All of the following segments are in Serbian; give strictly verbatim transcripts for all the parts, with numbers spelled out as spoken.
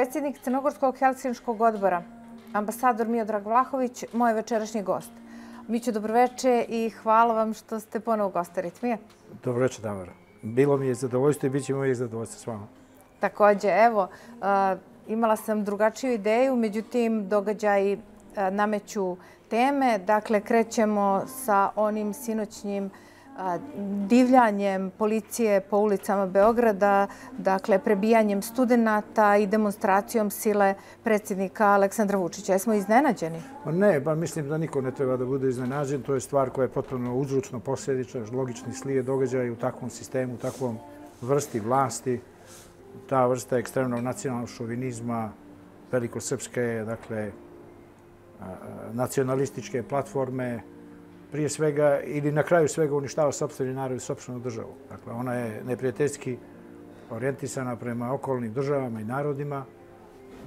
predsjednik Crnogorskog helsinškog odbora, ambasador Miodrag Vlahović, moj večerašnji gost. Mićo, dobroveče i hvala vam što ste ponovo gosta Ritmije. Dobroveče, Tamara. Bilo mi je zadovoljstvo i bit će uvijek zadovoljstvo s vama. Također, evo, imala sam drugačiju ideju, međutim, događaji nameću teme. Dakle, krećemo sa onim sinoćnjim divljanjem policije po ulicama Beograda, dakle, prebijanjem studenata i demonstracijom sile predsjednika Aleksandra Vučića. Jesmo iznenađeni? Ne, pa mislim da niko ne treba da bude iznenađen. To je stvar koja je potpuno uzročno posljedična, logični slijed događaja u takvom sistemu, u takvom vrsti vlasti. Ta vrsta ekstremnog nacionalnog šovinizma, velikosrpske, dakle, nacionalističke platforme, prije svega ili na kraju svega uništava sopstveni narod i sopstvenu državu. Dakle, ona je neprijateljski orijentisana prema okolnim državama i narodima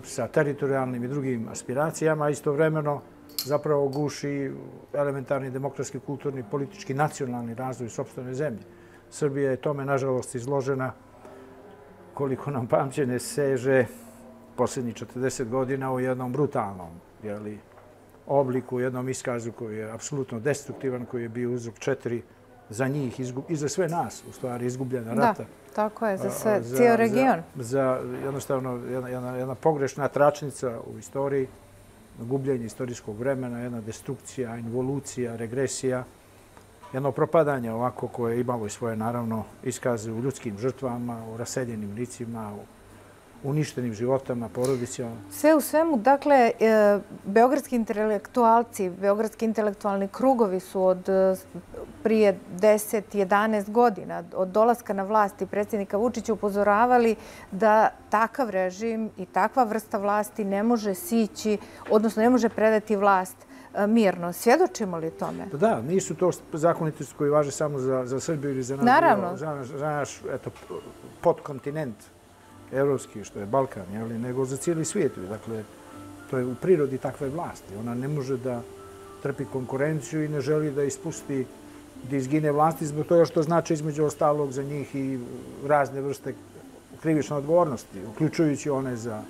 sa teritorijalnim i drugim aspiracijama, a istovremeno zapravo guši elementarni demokratski, kulturni, politički, nacionalni razvoj sopstvene zemlje. Srbija je tome, nažalost, izložena, koliko nam pamćenje seže, posljednjih četrdeset godina u jednom brutalnom, jeli, obliku, u jednom iskazu koji je apsolutno destruktivan, koji je bio uzrok četiri za njih i za sve nas, u stvari, izgubljena rata. Da, tako je, za sve, cijel region. Za jednostavno jedna pogrešna tračnica u istoriji, gubljenje istorijskog vremena, jedna destrukcija, involucija, regresija, jedno propadanje ovako koje je imalo i svoje, naravno, iskaze u ljudskim žrtvama, u raseljenim licima, u uništenim životama, porodicama. Sve u svemu, dakle, beogradski intelektualci, beogradski intelektualni krugovi su od prije deset jedanaest godina, od dolaska na vlast predsjednika Vučića, upozoravali da takav režim i takva vrsta vlasti ne može sići, odnosno ne može predati vlast mirno. Svjedočimo li tome? Da, nisu to zakonitosti koji važe samo za Srbiju ili za naš podkontinent evropski, što je Balkan, nego za cijeli svijet. Dakle, to je u prirodi takve vlasti. Ona ne može da trpi konkurenciju i ne želi da ispusti, da izgine vlasti zbog toga što znači između ostalog za njih i razne vrste krivične odgovornosti, uključujući one za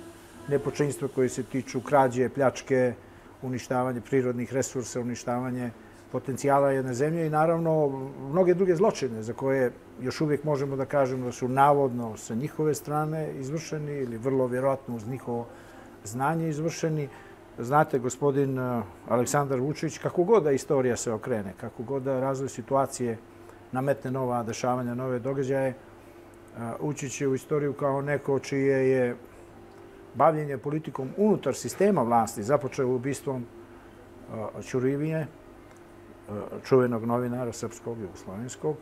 nepočinstvo koje se tiču krađe, pljačke, uništavanje prirodnih resursa, uništavanje potencijala jedne zemlje i naravno mnoge druge zločine za koje još uvijek možemo da kažemo da su navodno sa njihove strane izvršeni ili vrlo vjerojatno uz njihovo znanje izvršeni. Znate, gospodin Aleksandar Vučić, kako god da istorija se okrene, kako god da razvoj situacije nametne nova dešavanja, nove događaje, ući će u istoriju kao neko čije je bavljenje politikom unutar sistema vlasti započeo ubistvom Ćurivije, čuvenog novinara srpskog i jugoslovenskog,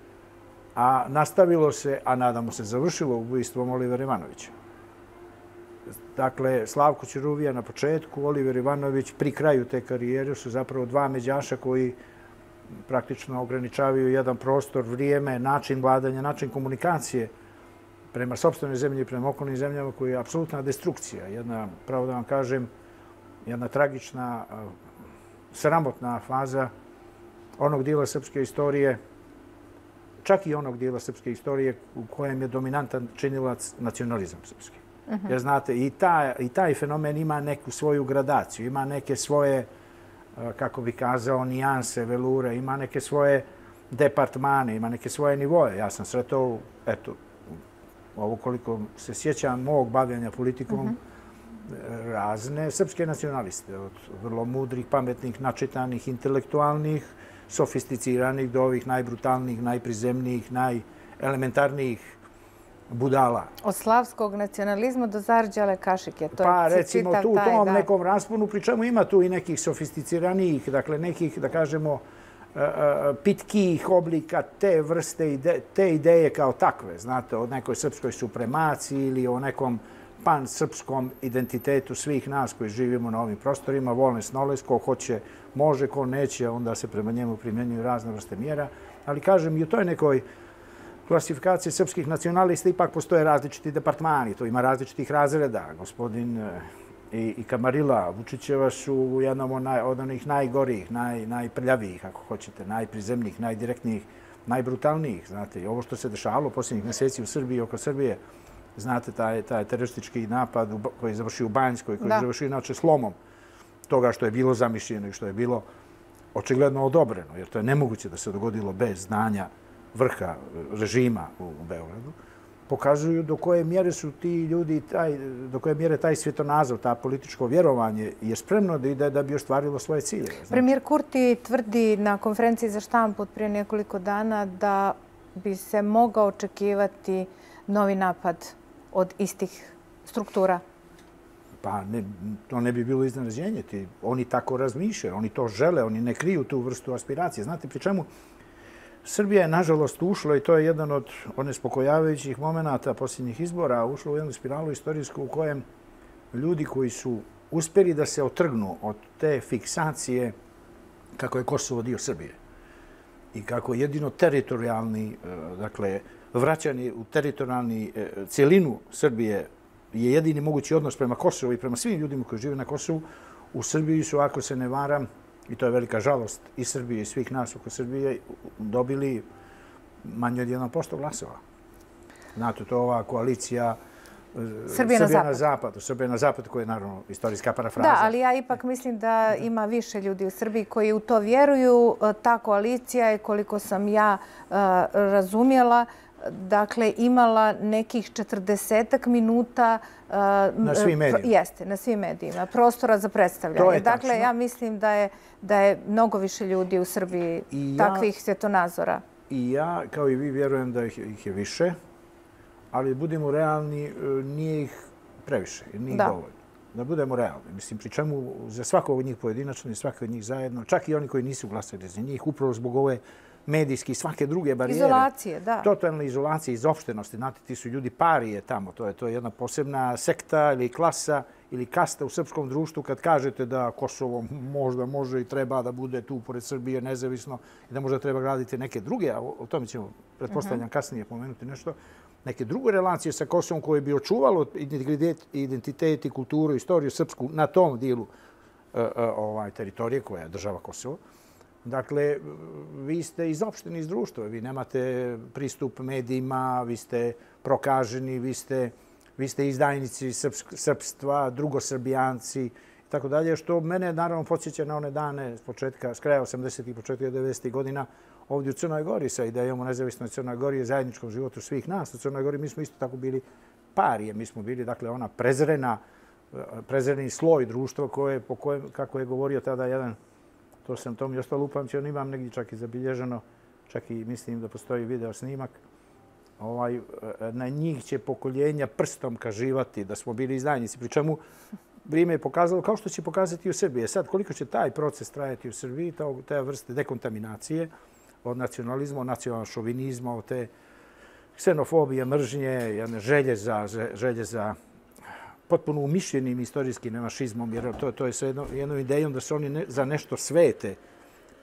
a nastavilo se, a nadamo se završilo ubistvom Olivera Ivanovića. Dakle, Slavko Ćuruvija na početku, Oliver Ivanović pri kraju te karijere su zapravo dva međaša koji praktično ograničavaju jedan prostor, vrijeme, način vladanja, način komunikacije prema sopstvenoj zemlji i prema okolnim zemljama koji je apsolutna destrukcija. Jedna, pravo da vam kažem, jedna tragična, sramotna faza onog dijela srpske istorije, čak i onog dijela srpske istorije u kojem je dominantan činilac nacionalizam srpski. Jer znate, i taj fenomen ima neku svoju gradaciju, ima neke svoje, kako bi kazao, nijanse, velure, ima neke svoje departmane, ima neke svoje nivoje. Ja sam sretao, eto, ovo koliko se sjećam mog bavljanja politikom, razne srpske nacionaliste, od vrlo mudrih, pametnih, načitanih, intelektualnih, sofisticiranih do ovih najbrutalnijih, najprizemnijih, najelementarnijih budala. Od slavskog nacionalizma do zarđale kašike. Pa recimo tu u tom nekom rasponu, pri čemu ima tu i nekih sofisticiranijih, dakle nekih, da kažemo, pitkijih oblika te vrste, te ideje kao takve, znate, o nekoj srpskoj supremaciji ili o nekom pan-srpskom identitetu svih nas koji živimo na ovim prostorima, volnes noles, ko hoće, može, ko neće, onda se prema njemu primjenjuju razne vrste mjera. Ali kažem, i u toj nekoj klasifikaciji srpskih nacionalista ipak postoje različiti departmani, to ima različitih razreda. Gospodin i Kamarila Vučićeva su u jednom od onih najgorijih, najprljavijih, ako hoćete, najprizemnijih, najdirektnijih, najbrutalnijih. Znate, i ovo što se dešavalo posljednjih mjeseci u Srbiji, oko Srbije, znate, taj, taj teroristički napad koji je završio u Banjskoj, koji je završio inače slomom toga što je bilo zamišljeno i što je bilo očigledno odobreno, jer to je nemoguće da se dogodilo bez znanja vrha režima u Beogradu, pokazuju do koje mjere su ti ljudi, taj, do koje mjere taj svjetonazor, ta političko vjerovanje je spremno da ide da bi ostvarilo svoje cilje. Znači. Premijer Kurti tvrdi na konferenciji za štampu prije nekoliko dana da bi se mogao očekivati novi napad od istih struktura. Pa ne, to ne bi bilo iznenađenje. Oni tako razmišljaju, oni to žele, oni ne kriju tu vrstu aspiracije. Znate, pri čemu Srbija je, nažalost, ušla, i to je jedan od onespokojavajućih momenata posljednjih izbora, ušla u jednu spiralu istorijsku u kojem ljudi koji su uspjeli da se otrgnu od te fiksacije kako je Kosovo dio Srbije i kako jedino teritorijalni, dakle, vraćani u teritorijalni cijelinu Srbije je jedini mogući odnos prema Kosovu i prema svim ljudima koji žive na Kosovu. U Srbiji su, ako se ne varam, i to je velika žalost i Srbije i svih nas oko Srbije, dobili manje od jedan posto glasova. Znate, to je ova koalicija Srbije na zapadu. zapadu. Srbije na zapadu, koja je naravno istorijska parafraza. Da, ali ja ipak mislim da ima više ljudi u Srbiji koji u to vjeruju. Ta koalicija je, koliko sam ja razumjela, dakle, imala nekih četrdesetak minuta na svim medijima. Jeste, na svim medijima. Prostora za predstavljanje. Dakle, ja mislim da je, da je mnogo više ljudi u Srbiji ja, takvih svjetonazora. I ja, kao i vi, vjerujem da ih, ih je više, ali budemo realni, nije ih previše, nije da. dovoljno. Da budemo realni. Mislim, pri čemu za svakog od njih pojedinačno i svakog od njih zajedno, čak i oni koji nisu glasali za njih, upravo zbog ove medijski i svake druge barijere. Izolacije, da. Totalne izolacije, izopštenosti. Znate, ti su ljudi parije tamo. To je, to je jedna posebna sekta ili klasa ili kasta u srpskom društvu kad kažete da Kosovo možda može i treba da bude tu pored Srbije nezavisno i da možda treba graditi neke druge, a o tome ćemo, pretpostavljam, kasnije pomenuti nešto, neke druge relacije sa Kosovom koje bi očuvalo identitet, identitet i kulturu, istoriju srpsku na tom dijelu uh, uh, ovaj, teritorije koja je država Kosovo. Dakle, vi ste izopšteni iz društva, vi nemate pristup medijima, vi ste prokaženi, vi ste, vi ste izdajnici srpstva, drugosrbijanci i tako dalje, što mene naravno podsjeća na one dane s početka, s kraja osamdesetih i početka devedesetih godina ovdje u Crnoj Gori sa idejom o nezavisnoj Crnoj Gori i zajedničkom životu svih nas. U Crnoj Gori mi smo isto tako bili parije, mi smo bili, dakle, ona prezrena, prezreni sloj društva koje, po kojem, kako je govorio tada jedan, to sam to mi ostalo upamćeno, imam negdje čak i zabilježeno, čak i mislim da postoji video snimak. Ovaj, na njih će pokoljenja prstom kaživati da smo bili izdajnici, pri čemu vrijeme je pokazalo, kao što će pokazati u Srbiji. Sad, koliko će taj proces trajati u Srbiji, ta, ta vrste dekontaminacije od nacionalizma, od nacionalnog šovinizma, od te ksenofobije, mržnje, jedne želje za, želje za potpuno umišljenim istorijskim nemašizmom, jer to, to je sa jedno, jednom idejom da se oni ne, za nešto svete,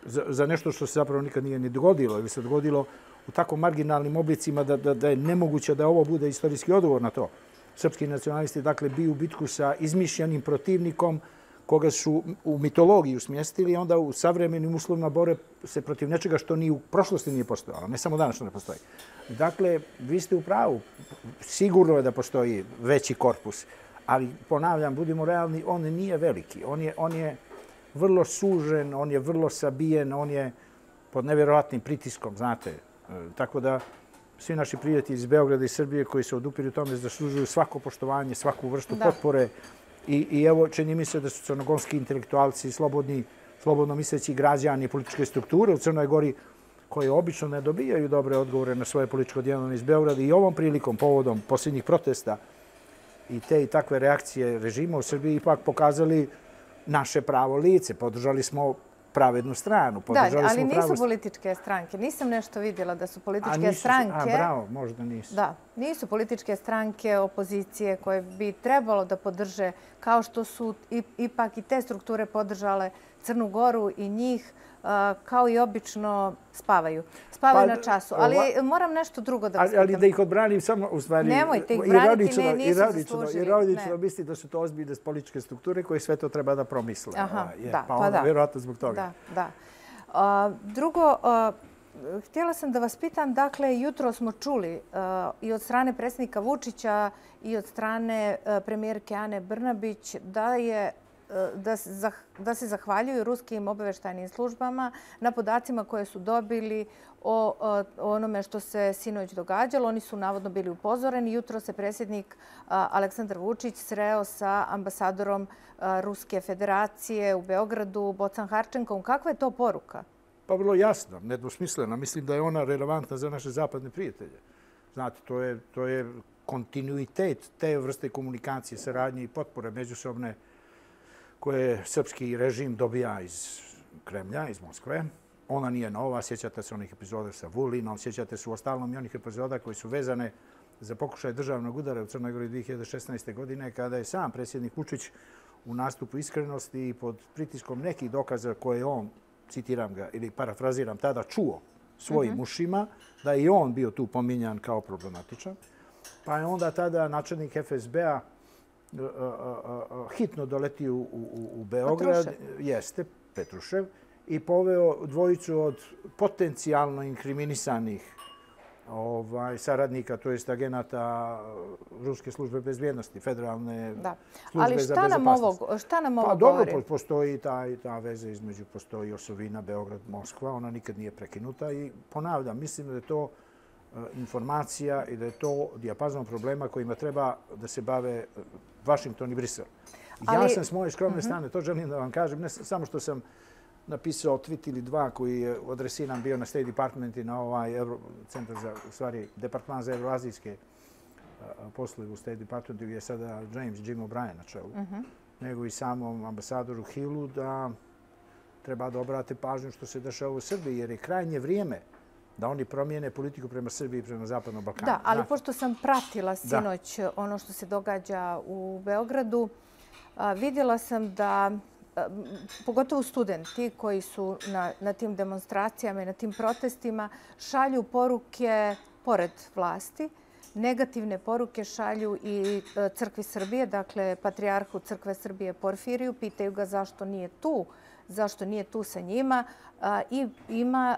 za, za nešto što se zapravo nikad nije ni dogodilo, ili se dogodilo u tako marginalnim oblicima da, da, da je nemoguće da ovo bude istorijski odgovor na to. Srpski nacionalisti, dakle, biju bitku sa izmišljenim protivnikom koga su u mitologiju smjestili i onda u savremenim uslovima bore se protiv nečega što ni u prošlosti nije postojalo, ne samo danas što ne postoji. Dakle, vi ste u pravu. Sigurno je da postoji veći korpus, ali ponavljam, budimo realni, on nije veliki. On je, on je vrlo sužen, on je vrlo sabijen, on je pod nevjerovatnim pritiskom, znate. Tako da svi naši prijatelji iz Beograda i Srbije koji se odupiru tome zaslužuju svako poštovanje, svaku vrstu da. potpore. I, I evo, čini mi se da su crnogorski intelektualci, slobodni, slobodno misleći građani političke strukture u Crnoj Gori, koje obično ne dobijaju dobre odgovore na svoje političko djelovanje iz Beograda i ovom prilikom, povodom posljednjih protesta i te i takve reakcije režima u Srbiji ipak pokazali naše pravo lice. Podržali smo pravednu stranu. Da, ali nisu pravo... političke stranke. Nisam nešto vidjela da su političke a nisu, stranke... A bravo, možda nisu. Da, nisu političke stranke opozicije koje bi trebalo da podrže, kao što su ipak i te strukture podržale Crnu Goru i njih, kao i obično spavaju. Spavaju pa, na času. Ali ova... moram nešto drugo da vas pitam. Ali da ih odbranim samo, u stvari... Nemojte ih braniti, ne, nisu zaslužili. Ironično misli da su to ozbiljne političke strukture koje sve to treba da promisle. Aha, je, da, pa, pa onda, da. Vjerojatno zbog toga. Da, da. Uh, drugo, uh, htjela sam da vas pitam, dakle, jutro smo čuli i od strane predsjednika Vučića i od strane premijerke Ane Brnabić da je Da, da se zahvaljuju ruskim obavještajnim službama na podacima koje su dobili o, o onome što se sinoć događalo. Oni su navodno bili upozoreni. Jutro se predsjednik Aleksandar Vučić sreo sa ambasadorom Ruske federacije u Beogradu, Bocan Harčenkom. Kakva je to poruka? Pa vrlo jasna, nedvosmislena. Mislim da je ona relevantna za naše zapadne prijatelje. Znate, to je, to je kontinuitet te vrste komunikacije, saradnje i potpore međusobne koje srpski režim dobija iz Kremlja, iz Moskve. Ona nije nova, sjećate se onih epizoda sa Vulinom, sjećate se u ostalom i onih epizoda koji su vezane za pokušaj državnog udara u Crnoj Gori dvije hiljade šesnaeste. godine, kada je sam predsjednik Vučić u nastupu iskrenosti i pod pritiskom nekih dokaza koje on, citiram ga ili parafraziram, tada čuo svojim ušima, da je i on bio tu pominjan kao problematičan. Pa je onda tada načelnik F S B-a hitno doletio u, u, u Beograd, Petrušev. jeste, Petrušev, i poveo dvojicu od potencijalno inkriminisanih ovaj, saradnika, to jest agenata Ruske službe bezbjednosti, federalne da. službe Ali za šta nam bezopasnost. ovo, šta nam ovo pa, govori? dobro, postoji taj, ta veza između, postoji osovina Beograd-Moskva, ona nikad nije prekinuta i ponavljam, mislim da je to informacija i da je to dijapazon problema kojima treba da se bave Washington i Brisel. Ja sam s moje skromne strane, to želim da vam kažem, ne samo što sam napisao tweet ili dva koji je adresiran bio na State Department i na ovaj Euro, centar za, u stvari, Departman za evroazijske poslove u State Departmentu gdje je sada James Jim O'Brien na čelu, nego i samom ambasadoru Hillu da treba da obrate pažnju što se dešava u Srbiji, jer je krajnje vrijeme da oni promijene politiku prema Srbiji i prema Zapadnom Balkanu. Da, ali pošto sam pratila sinoć ono što se događa u Beogradu, vidjela sam da, pogotovo studenti koji su na, na tim demonstracijama i na tim protestima, šalju poruke pored vlasti. Negativne poruke šalju i Crkvi Srbije, dakle Patrijarhu Crkve Srbije Porfiriju, pitaju ga zašto nije tu, zašto nije tu sa njima. I ima,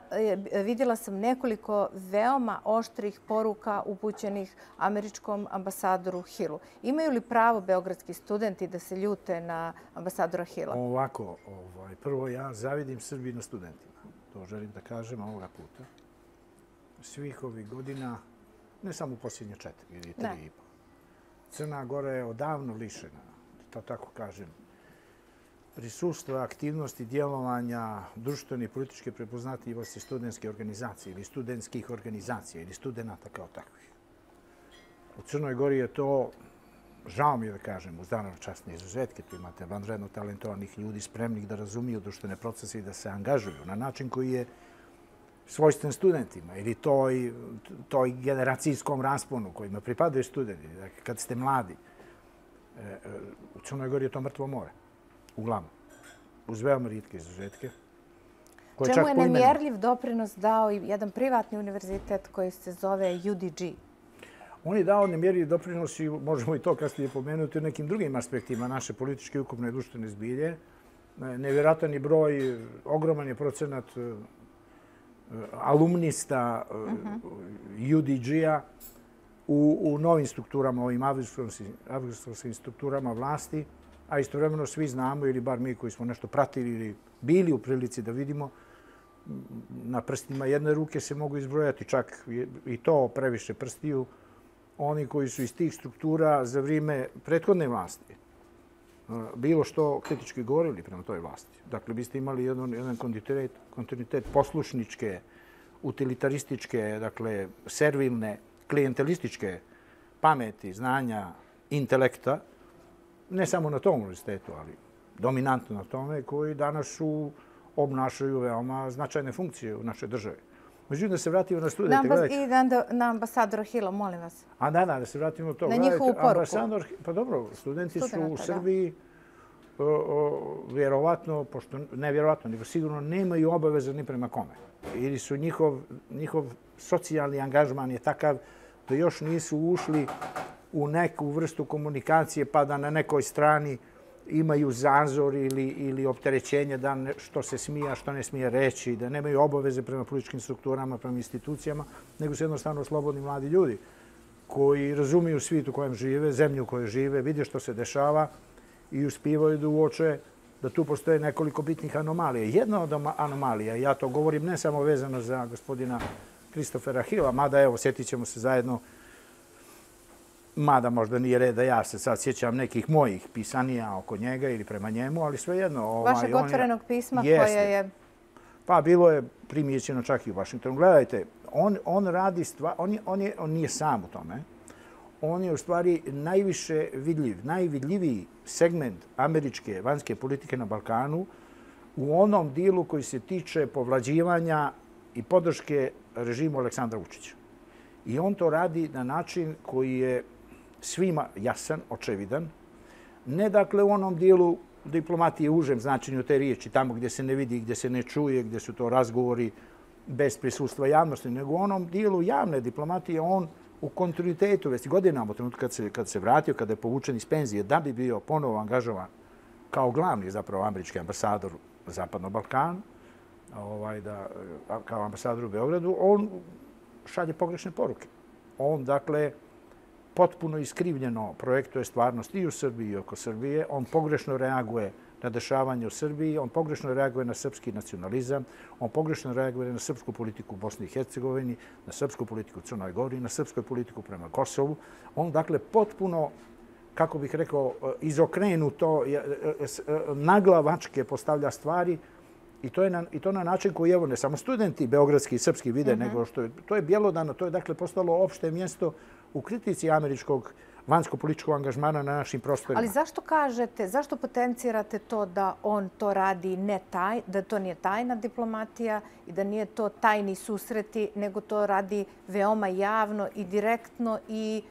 vidjela sam nekoliko veoma oštrih poruka upućenih američkom ambasadoru Hillu. Imaju li pravo beogradski studenti da se ljute na ambasadora Hilla? Ovako, ovaj, prvo ja zavidim Srbiji na studentima. To želim da kažem ovoga puta. Svih ovih godina, ne samo u posljednje četiri ili tri i po. Crna Gora je odavno lišena, to tako kažem, prisustva, aktivnosti, djelovanja, društvene i političke prepoznatljivosti studentske organizacije ili studentskih organizacija ili studenta kao takvih. U Crnoj Gori je to, žao mi je da kažem, uz naravno časne izuzetke, tu imate vanredno talentovanih ljudi spremnih da razumiju društvene procese i da se angažuju na način koji je svojstven studentima ili toj, toj generacijskom rasponu kojima pripadaju studenti. Dakle, kad ste mladi, u Crnoj Gori je to mrtvo more. Uglavnom, uz veoma rijetke izuzetke. Čemu je nemjerljiv doprinos dao i jedan privatni univerzitet koji se zove U D G? On je dao nemjerljiv doprinos i možemo i to kasnije pomenuti u nekim drugim aspektima naše političke, ukupne i društvene zbilje. Nevjerojatan je broj, ogroman je procenat alumnista U D G-a u, u novim strukturama, ovim avgustarskim strukturama vlasti, a istovremeno svi znamo, ili bar mi koji smo nešto pratili ili bili u prilici da vidimo, na prstima jedne ruke se mogu izbrojati, čak i to previše prstiju, oni koji su iz tih struktura za vrijeme prethodne vlasti bilo što kritički govorili prema toj vlasti. Dakle, biste imali jedan, jedan kontinuitet, kontinuitet poslušničke, utilitarističke, dakle, servilne, klijentelističke pameti, znanja, intelekta, ne samo na tom univerzitetu, ali dominantno na tome, koji danas su, obnašaju veoma značajne funkcije u našoj državi. Međutim, da se vratimo na studente. Na I na, na ambasadora Hilla, molim vas. A da, da, da se vratimo na to. Na njihovu poruku. Ambasador, pa dobro, studenti su u Srbiji o, o, vjerovatno, pošto ne vjerovatno, nego sigurno nemaju obaveza ni prema kome. Ili su njihov, njihov socijalni angažman je takav da još nisu ušli u neku vrstu komunikacije pa da na nekoj strani imaju zazor ili, ili opterećenje da ne, što se smije, a što ne smije reći, da nemaju obaveze prema političkim strukturama, prema institucijama, nego su jednostavno slobodni mladi ljudi koji razumiju svijet u kojem žive, zemlju u kojoj žive, vide što se dešava i uspijevaju da uoče da tu postoje nekoliko bitnih anomalija. Jedna od anomalija, ja to govorim ne samo vezano za gospodina Kristofera Hilla, mada evo, sjetit ćemo se zajedno, mada možda nije red da ja se sad sjećam nekih mojih pisanija oko njega ili prema njemu, ali svejedno. Ovaj, Vašeg otvorenog pisma jeste, koje je... Pa bilo je primijećeno čak i u Vašingtonu. Gledajte, on, on radi stvar, on, je, on, je, on nije sam u tome. On je u stvari najviše vidljiv, najvidljiviji segment američke vanjske politike na Balkanu u onom dijelu koji se tiče povlađivanja i podrške režimu Aleksandra Vučića. I on to radi na način koji je svima jasan, očevidan. Ne dakle u onom dijelu diplomatije u užem značenju te riječi, tamo gdje se ne vidi, gdje se ne čuje, gdje su to razgovori bez prisustva javnosti, nego u onom dijelu javne diplomatije on u kontinuitetu, već godinama u trenutku kad se, kad se vratio, kada je povučen iz penzije, da bi bio ponovo angažovan kao glavni zapravo američki ambasador na Zapadnom Balkanu, ovaj, da, kao ambasador u Beogradu, on šalje pogrešne poruke. On, dakle, potpuno iskrivljeno projektuje stvarnost i u Srbiji i oko Srbije. On pogrešno reaguje na dešavanje u Srbiji, on pogrešno reaguje na srpski nacionalizam, on pogrešno reaguje na srpsku politiku u Bosni i Hercegovini, na srpsku politiku u Crnoj Gori, na srpsku politiku prema Kosovu. On, dakle, potpuno, kako bih rekao, izokrenuto, naglavačke postavlja stvari i to je na, i to na način koji, evo, ne samo studenti beogradski i srpski vide, mm-hmm. nego što je, to je bjelodano, to je, dakle, postalo opšte mjesto u kritici američkog vanjsko-političkog angažmana na našim prostorima. Ali zašto kažete, zašto potencirate to da on to radi ne taj, da to nije tajna diplomatija i da nije to tajni susreti, nego to radi veoma javno i direktno i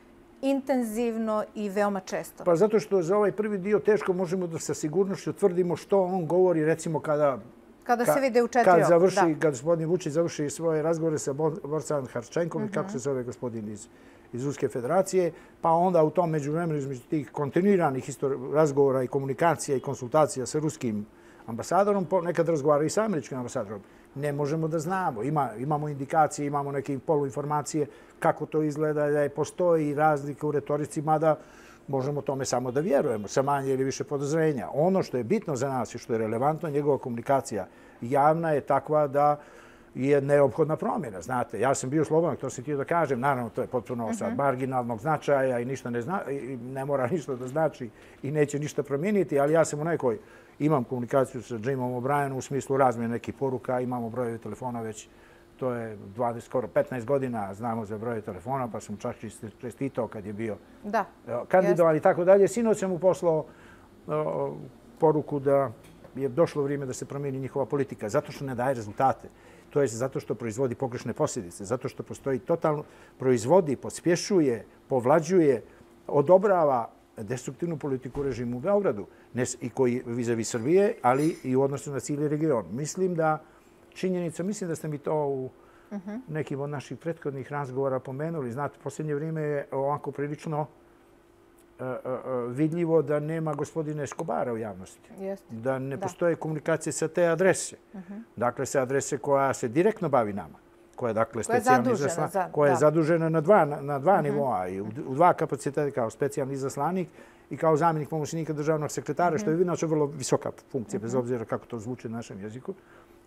intenzivno i veoma često? Pa zato što za ovaj prvi dio teško možemo da sa sigurnošću tvrdimo što on govori, recimo kada Kada se vide u četiri kad završi, kad gospodin Vučić završi svoje razgovore sa Borcem Harčenkom, mm-hmm. kako se zove gospodin iz iz Ruske federacije, pa onda u tom međuvremenu između tih kontinuiranih razgovora i komunikacija i konsultacija sa ruskim ambasadorom, nekad razgovara i sa američkim ambasadorom. Ne možemo da znamo. Ima, imamo indikacije, imamo neke poluinformacije kako to izgleda, da je postoji razlika u retorici, mada možemo tome samo da vjerujemo, sa manje ili više podozrenja. Ono što je bitno za nas i što je relevantno, njegova komunikacija javna je takva da je neophodna promjena. Znate, ja sam bio slobodan, to sam htio da kažem. Naravno, to je potpuno uh-huh. sad marginalnog značaja i ništa ne, zna, i ne mora ništa da znači i neće ništa promijeniti, ali ja sam u nekoj, imam komunikaciju sa Jimom O'Brienom u smislu razmjene nekih poruka, imamo brojeve telefona već, to je dvadeset, skoro petnaest godina, znamo za broje telefona, pa sam čak čestitao kad je bio da, kandidovan i tako dalje. Sinoć sam mu poslao uh, poruku da je došlo vrijeme da se promijeni njihova politika, zato što ne daje rezultate. To je zato što proizvodi pogrešne posljedice, zato što postoji totalno, proizvodi, pospješuje, povlađuje, odobrava destruktivnu politiku režimu u Beogradu ne, i koji vizavi Srbije, ali i u odnosu na cijeli region. Mislim da činjenica, mislim da ste mi to u uh-huh. nekim od naših prethodnih razgovora pomenuli. Znate, posljednje vrijeme je ovako prilično uh, uh, vidljivo da nema gospodina Escobara u javnosti. Jeste. Da ne da. postoje komunikacije sa te adrese. Uh-huh. Dakle, sa adrese koja se direktno bavi nama. Koja je, dakle, koja je specijalni zadužena, izaslan, za, koja je da. zadužena na dva, na, na dva uh-huh. nivoa i u, u dva kapaciteta kao specijalni izaslanik i kao zamjenik pomoćnika državnog sekretara, uh-huh. što je inače vrlo visoka funkcija, uh-huh. bez obzira kako to zvuči na našem jeziku.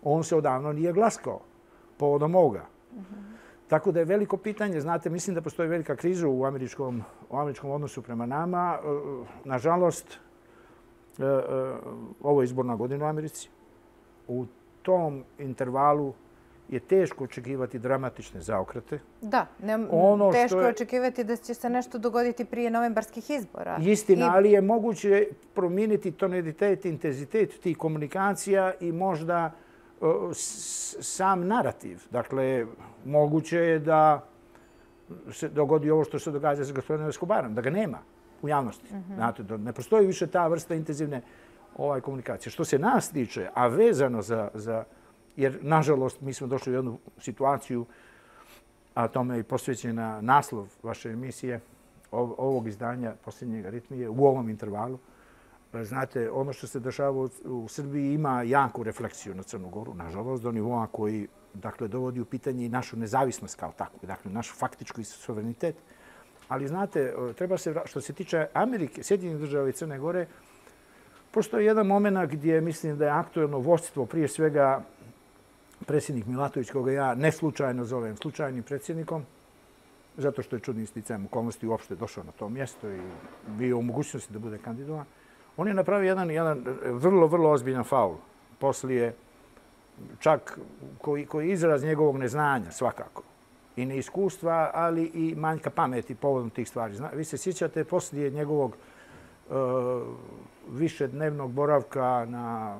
On se odavno nije glaskao povodom ovoga. Uh-huh. Tako da je veliko pitanje, znate, mislim da postoji velika kriza u američkom, u američkom odnosu prema nama. Nažalost, ovo je izborna godina u Americi. U tom intervalu je teško očekivati dramatične zaokrete. Da, ne, ono teško je očekivati da će se nešto dogoditi prije novembarskih izbora. Istina, I... ali je moguće promijeniti tonalitet, intenzitet tih komunikacija i možda sam narativ. Dakle, moguće je da se dogodi ovo što se događa sa gospodinom Escobarom, da ga nema u javnosti. Mm-hmm. Znate, da ne postoji više ta vrsta intenzivne ovaj, komunikacije. Što se nas tiče, a vezano za, za... Jer, nažalost, mi smo došli u jednu situaciju, a tome je posvećena naslov vaše emisije, ovog izdanja posljednjeg Aritmije, u ovom intervalu, znate, ono što se dešava u Srbiji ima jaku refleksiju na Crnu Goru, nažalost, do nivoa koji dakle, dovodi u pitanje i našu nezavisnost kao takvu, dakle, našu faktičku suverenitet. Ali, znate, treba se, što se tiče Amerike, Sjedinjenih država i Crne Gore, postoji jedan moment gdje mislim da je aktuelno vođstvo, prije svega predsjednik Milatović, koga ja ne slučajno zovem slučajnim predsjednikom, zato što je čudnim sticajem okolnosti uopšte došao na to mjesto i bio u mogućnosti da bude kandidovan. On je napravio jedan, jedan vrlo, vrlo ozbiljan faul. Poslije, čak koji, koji je izraz njegovog neznanja svakako i neiskustva, ali i manjka pameti povodom tih stvari. Zna, vi se sjećate poslije njegovog uh, višednevnog boravka na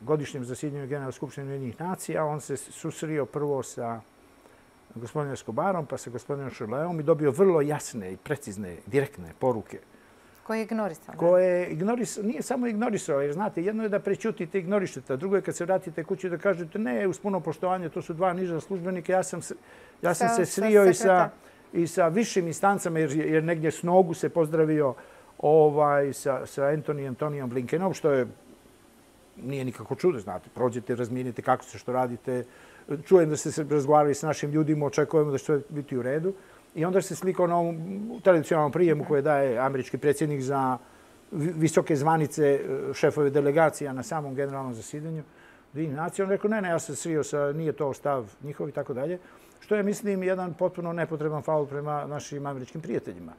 godišnjem zasjedanju Generalne skupštine Ujedinjenih nacija, on se susrio prvo sa gospodinom Escobarom, pa sa gospodinom Šerleom i dobio vrlo jasne i precizne, direktne poruke. Koje je ignorisao? Koje ignorisao, nije samo ignorisao, jer znate, jedno je da prećutite i ignorišete, a drugo je kad se vratite kući da kažete ne, uz puno poštovanje, to su dva niža službenika, ja sam, ja sam se srio i sa, i sa višim instancama, jer, jer negdje s nogu se pozdravio ovaj, sa, sa Antony Antonijom Blinkenom, što je, nije nikako čudo, znate, prođete, razmijenite kako se što radite, čujem da ste se razgovarali s našim ljudima, očekujemo da će sve biti u redu. I onda se slikao na ovom tradicionalnom prijemu koje daje američki predsjednik za visoke zvanice šefove delegacija na samom generalnom zasjedanju. Nacija, on rekao, ne, ne, ja sam srio sa, nije to stav njihov i tako dalje. Što je, mislim, jedan potpuno nepotreban faul prema našim američkim prijateljima,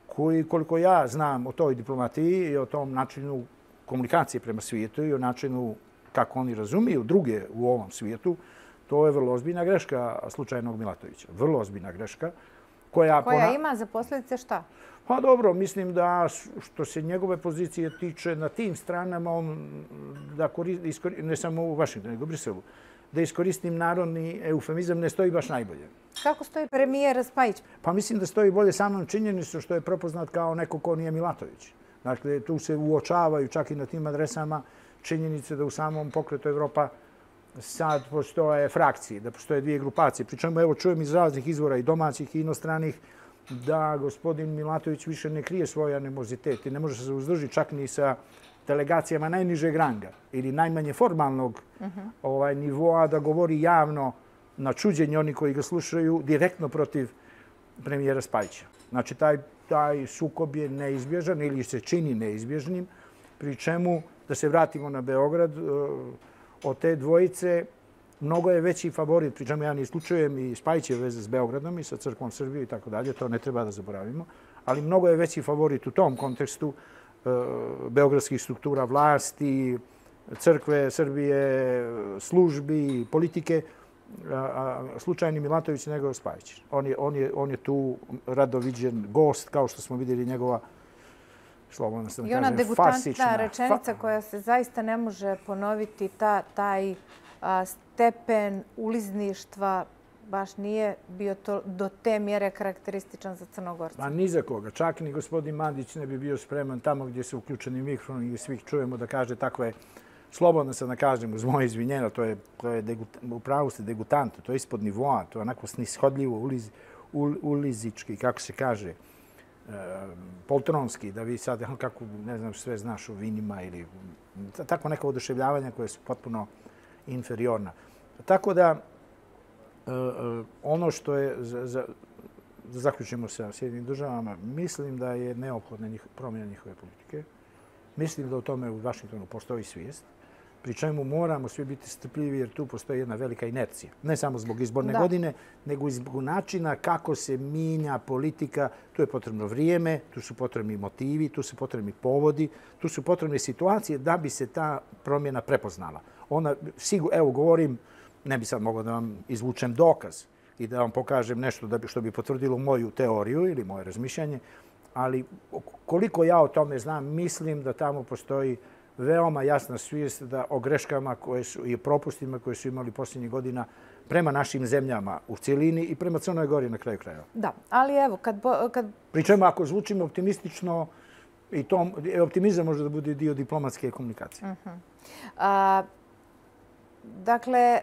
koji, koliko ja znam o toj diplomatiji i o tom načinu komunikacije prema svijetu i o načinu kako oni razumiju druge u ovom svijetu, to je vrlo ozbiljna greška slučajnog Milatovića. Vrlo ozbiljna greška. Koja, koja pona... ima za posljedice šta? Pa dobro, mislim da što se njegove pozicije tiče na tim stranama, on da koristi, ne samo u Vašingtonu, nego u Briselu, da iskoristim narodni eufemizam, ne stoji baš najbolje. Kako stoji premijer Spajić? Pa mislim da stoji bolje samom činjenicu što je prepoznat kao neko ko nije Milatović. Dakle, tu se uočavaju čak i na tim adresama činjenice da u samom pokretu Evropa sad postoje frakcije, da postoje dvije grupacije. Pričemu, evo, čujem iz raznih izvora i domaćih i inostranih da gospodin Milatović više ne krije svoj animozitet i ne može se uzdrži čak ni sa delegacijama najnižeg ranga ili najmanje formalnog uh-huh. ovaj, nivoa da govori javno na čuđenje oni koji ga slušaju direktno protiv premijera Spajića. Znači, taj, taj sukob je neizbježan ili se čini neizbježnim, pri čemu, da se vratimo na Beograd, od te dvojice mnogo je veći favorit, pri čemu ja ne isključujem i Spajićeve veze s Beogradom i sa Crkvom Srbije i tako dalje, to ne treba da zaboravimo, ali mnogo je veći favorit u tom kontekstu e, beogradskih struktura vlasti, Crkve Srbije, službi, politike, a, a, slučajni Milatović nego Spajić. On je, on, je, on je tu rado viđen gost, kao što smo vidjeli njegova slobodno sam I ona degutantna rečenica koja se zaista ne može ponoviti, ta, taj a, stepen ulizništva baš nije bio to, do te mjere karakterističan za Crnogorca. Pa ni za koga. Čak ni gospodin Mandić ne bi bio spreman tamo gdje se uključeni mikrofon i svih čujemo da kaže takve, slobodno sam da kažem, uz moje izvinjenja, to je, to je degut, upravo ste degutant, to je ispod nivoa, to je onako snishodljivo, uliz, ul, ulizički, kako se kaže, poltronski, da vi sad, kako, ne znam, sve znaš o vinima ili tako neka oduševljavanja koje su potpuno inferiorna. Tako da, ono što je, za, za, da zaključimo sa Sjedinim državama, mislim da je neophodna njih, promjena njihove politike. Mislim da u tome u Vašingtonu postoji svijest, pri čemu moramo svi biti strpljivi jer tu postoji jedna velika inercija. Ne samo zbog izborne da. godine, nego i zbog načina kako se mijenja politika. Tu je potrebno vrijeme, tu su potrebni motivi, tu su potrebni povodi, tu su potrebne situacije da bi se ta promjena prepoznala. Ona, sigur, evo govorim, ne bi sad mogao da vam izvučem dokaz i da vam pokažem nešto da bi, što bi potvrdilo moju teoriju ili moje razmišljanje, ali koliko ja o tome znam, mislim da tamo postoji veoma jasna svijest da o greškama koje su, i propustima koje su imali posljednjih godina prema našim zemljama u cijelini i prema Crnoj Gori na kraju krajeva. Da, ali evo, kad... kad... Pričemu, ako zvučimo optimistično, i to, optimizam može da bude dio diplomatske komunikacije. Uh-huh. A, dakle,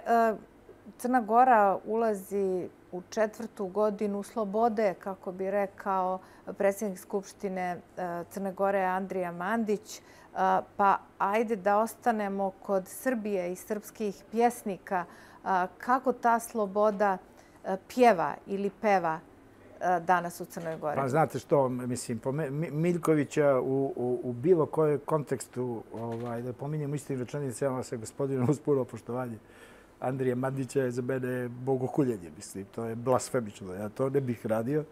Crna Gora ulazi u četvrtu godinu slobode, kako bi rekao predsjednik Skupštine Crne Gore Andrija Mandić. Pa ajde da ostanemo kod Srbije i srpskih pjesnika. Kako ta sloboda pjeva ili peva danas u Crnoj Gori? Pa znate što, mislim, Miljkovića u, u, u bilo kojem kontekstu, ovaj, da pominjem istim rečenicama sa gospodinom uz puno poštovanje, Andrija Mandića je za mene bogokuljenje, mislim, to je blasfemično, ja to ne bih radio.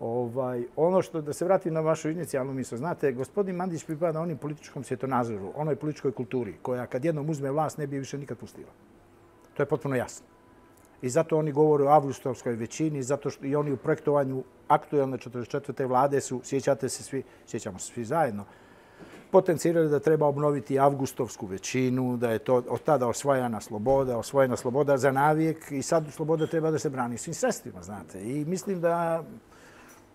Ovaj, ono što, da se vratim na vašu inicijalnu misl, znate, gospodin Mandić pripada onim političkom svjetonazoru, onoj političkoj kulturi, koja kad jednom uzme vlast ne bi više nikad pustila. To je potpuno jasno. I zato oni govore o avgustovskoj većini, zato što i oni u projektovanju aktualne četrdeset četvrte vlade su, sjećate se svi, sjećamo se svi zajedno, potencirali da treba obnoviti avgustovsku većinu, da je to od tada osvojena sloboda, osvojena sloboda za navijek i sad sloboda treba da se brani svim sredstvima, znate. I mislim da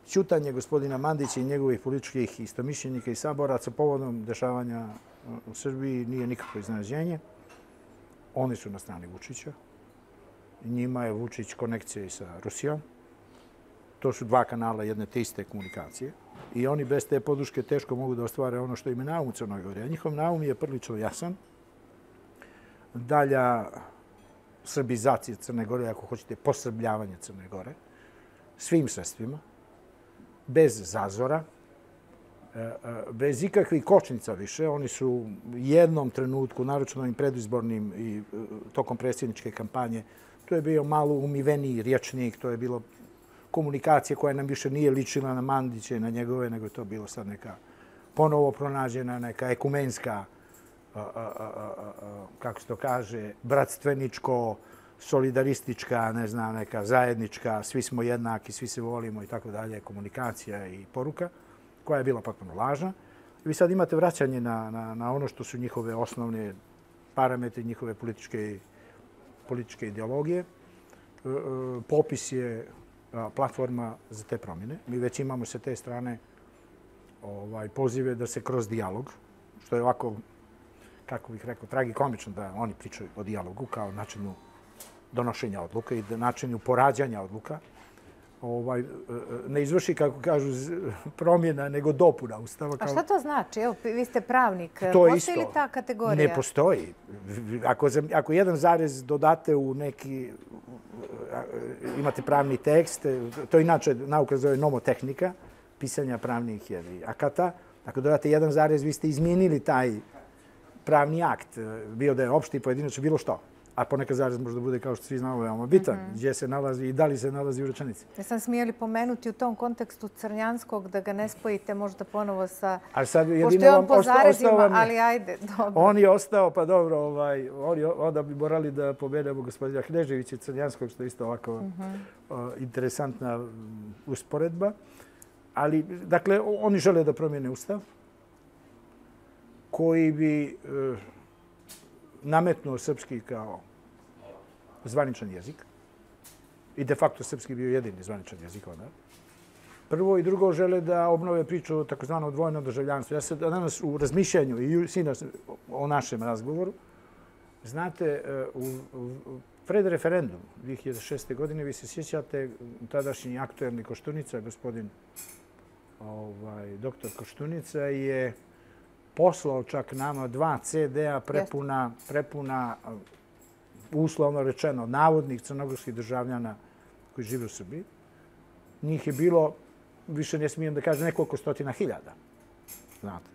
ćutanje gospodina Mandića i njegovih političkih istomišljenika i saboraca povodom dešavanja u Srbiji nije nikakvo iznenađenje. Oni su na strani Vučića. Njima je Vučić konekcija i sa Rusijom. To su dva kanala jedne te iste komunikacije. I oni bez te podrške teško mogu da ostvare ono što im je naum u Crnoj Gori. A njihov naum je prilično jasan. Dalja srbizacija Crne Gore, ako hoćete, posrbljavanje Crne Gore, svim sredstvima, bez zazora, bez ikakvih kočnica više. Oni su u jednom trenutku, naročito ovim predizbornim i tokom predsjedničke kampanje, to je bio malo umiveniji rječnik, to je bilo komunikacija koja nam više nije ličila na Mandića i na njegove, nego je to bilo sad neka ponovo pronađena, neka ekumenska, kako se to kaže, bratstveničko, solidaristička, ne znam, neka zajednička, svi smo jednaki, svi se volimo i tako dalje, komunikacija i poruka, koja je bila potpuno lažna. Vi sad imate vraćanje na, na, na ono što su njihove osnovne parametri, njihove političke, političke ideologije. Popis je platforma za te promjene. Mi već imamo sa te strane ovaj, pozive da se kroz dijalog, što je ovako, kako bih rekao, tragikomično da oni pričaju o dijalogu kao načinu donošenja odluka i načinu porađanja odluka, ovaj, ne izvrši, kako kažu, promjena, nego dopuna Ustava. A šta to znači? Evo, vi ste pravnik. To postoji li ta kategorija? Ne postoji. Ako, ako jedan zarez dodate u neki, imate pravni tekst, to inače nauka zove nomotehnika, pisanja pravnih akata, ako dodate jedan zarez, vi ste izmijenili taj pravni akt, bio da je opšti, pojedinačno, bilo što. A ponekad zarez možda bude, kao što svi znamo, veoma bitan, mm-hmm. gdje se nalazi i da li se nalazi u rečenici. Ja sam smijeli pomenuti u tom kontekstu Crnjanskog, da ga ne spojite možda ponovo sa... Ali sad pošto je on po zarezima, ali ajde, dobro. On je ostao, pa dobro, ovaj, oni, onda bi morali da povedemo gospodina Kneževića Crnjanskog, što je isto ovako mm-hmm. o, interesantna usporedba. Ali, dakle, oni žele da promijene Ustav, koji bi... E, nametnuo srpski kao zvaničan jezik i de facto srpski bio jedini zvaničan jezik onda. Prvo i drugo žele da obnove priču o takozvano dvojnom državljanstvu. Ja se danas u razmišljanju i sinoć o našem razgovoru, znate, u, u pred referendum dvije hiljade šeste. godine vi se sjećate tadašnji aktuelni Koštunica, gospodin ovaj, doktor Koštunica je poslao čak nama dva ce de a prepuna, prepuna, uslovno rečeno, navodnih crnogorskih državljana koji žive u Srbiji. Njih je bilo, više ne smijem da kažem, nekoliko stotina hiljada. Znate.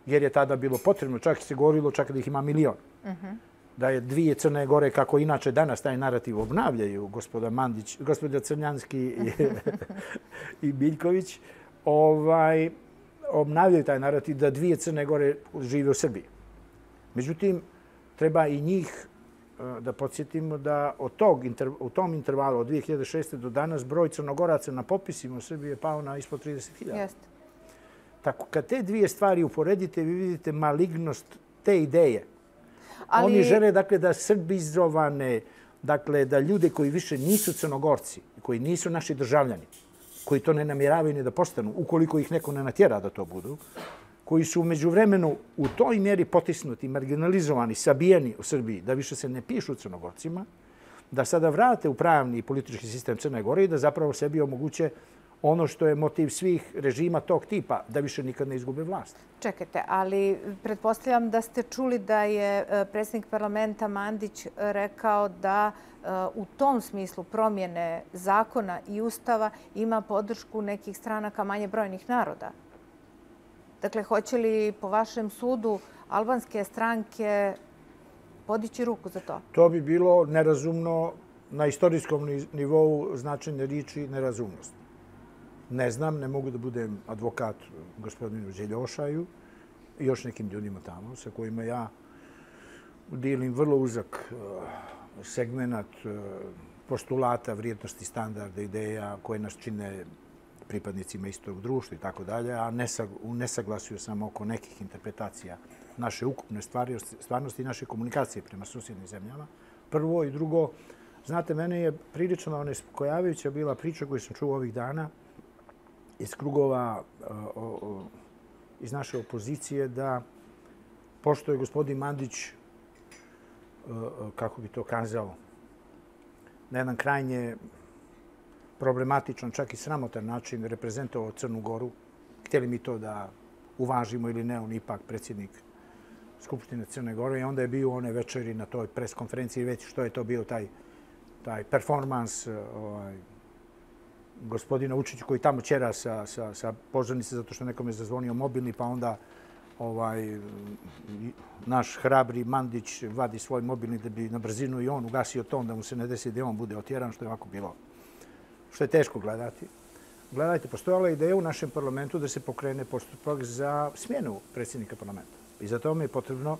Jer je tada bilo potrebno, čak se govorilo čak da ih ima milion. Uh-huh. Da je dvije Crne Gore, kako inače danas taj narativ obnavljaju, gospoda Mandić, gospoda Crnjanski i, i Biljković, ovaj, obnavljaju taj narativ da dvije Crne Gore žive u Srbiji. Međutim, treba i njih da podsjetimo da od tog, u tom intervalu od dvije hiljade šeste. do danas broj Crnogoraca na popisima u Srbiji je pao na ispod trideset hiljada. Jeste. Tako, kad te dvije stvari uporedite, vi vidite malignost te ideje. Ali... Oni žele, dakle, da srbizovane, dakle, da ljude koji više nisu Crnogorci, koji nisu naši državljani, koji to ne namjeravaju ni da postanu, ukoliko ih neko ne natjera da to budu, koji su umeđu vremenu u toj mjeri potisnuti, marginalizovani, sabijeni u Srbiji, da više se ne pišu Crnogorcima, da sada vrate u pravni i politički sistem Crne Gore i da zapravo sebi omoguće ono što je motiv svih režima tog tipa, da više nikad ne izgube vlast. Čekajte, ali pretpostavljam da ste čuli da je predsjednik parlamenta Mandić rekao da u tom smislu promjene zakona i ustava ima podršku nekih stranaka manje brojnih naroda. Dakle, hoće li po vašem sudu albanske stranke podići ruku za to? To bi bilo nerazumno, na istorijskom nivou značenje riječi nerazumnost. Ne znam, ne mogu da budem advokat gospodinu Đeljošaju i još nekim ljudima tamo sa kojima ja dijelim vrlo uzak segmenat postulata, vrijednosti, standarda, ideja koje nas čine pripadnicima istog društva i tako dalje, a u nesaglasju samo oko nekih interpretacija naše ukupne stvarnosti i naše komunikacije prema susjednim zemljama. Prvo i drugo, znate, mene je prilično onespokojavajuća bila priča koju sam čuo ovih dana iz krugova iz naše opozicije da, pošto je gospodin Mandić, kako bi to kazao, na jedan krajnje problematičan, čak i sramotan način reprezentovao Crnu Goru, htjeli mi to da uvažimo ili ne, on ipak predsjednik Skupštine Crne Gore i onda je bio one večeri na toj pres konferenciji već što je to bio taj, taj performans ovaj, gospodina Vučića koji tamo ćera sa, sa, sa pozornice zato što nekom je zazvonio mobilni pa onda ovaj, naš hrabri Mandić vadi svoj mobilni da bi na brzinu i on ugasio ton da mu se ne desi da on bude otjeran što je ovako bilo. Što je teško gledati. Gledajte, postojala je ideja u našem parlamentu da se pokrene postupak za smjenu predsjednika parlamenta. I za to mi je potrebno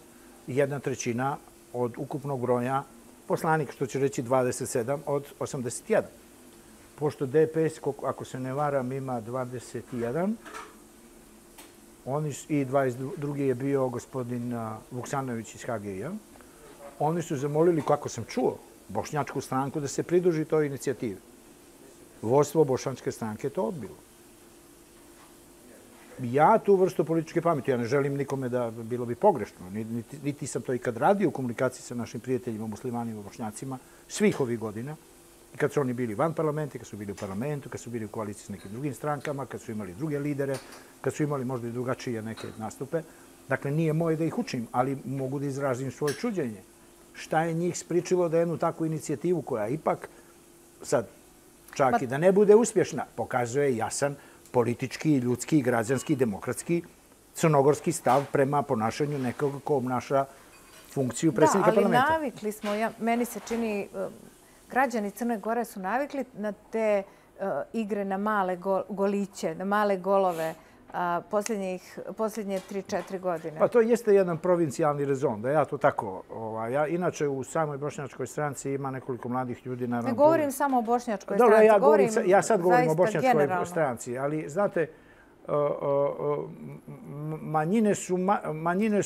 jedna trećina od ukupnog broja poslanika, što će reći dvadeset sedam od osamdeset jedan. Pošto D P S, ako se ne varam, ima dvadeset jedan, oni, i dvadeset drugi je bio gospodin Vuksanović iz H G I-a, oni su zamolili, kako sam čuo, bošnjačku stranku da se pridruži toj inicijativi. Vodstvo bošnjačke stranke je to odbilo. Ja tu vrstu političke pameti, ja ne želim nikome da bilo bi pogrešno, niti, niti sam to ikad radio u komunikaciji sa našim prijateljima, muslimanima, bošnjacima, svih ovih godina. I kad su oni bili van parlamenta, kad su bili u parlamentu, kad su bili u koaliciji s nekim drugim strankama, kad su imali druge lidere, kad su imali možda i drugačije neke nastupe. Dakle, nije moje da ih učim, ali mogu da izrazim svoje čuđenje. Šta je njih spričilo da jednu takvu inicijativu koja ipak, sad, čak i da ne bude uspješna, pokazuje jasan politički, ljudski, građanski, demokratski, crnogorski stav prema ponašanju nekog ko obnaša funkciju predsjednika parlamenta. Da, ali navikli smo, ja, meni se čini, građani Crne Gore su navikli na te uh, igre na male go, goliće, na male golove uh, posljednjih, posljednje tri četiri godine. Pa to jeste jedan provincijalni rezon, da ja to tako... Ovaj, ja, inače, u samoj bošnjačkoj stranci ima nekoliko mladih ljudi. Naravno, ne govorim samo o bošnjačkoj Dobro, stranci, ja, govorim govorim, ja sad govorim o bošnjačkoj generalno. Stranci, ali znate, manjine su, manjine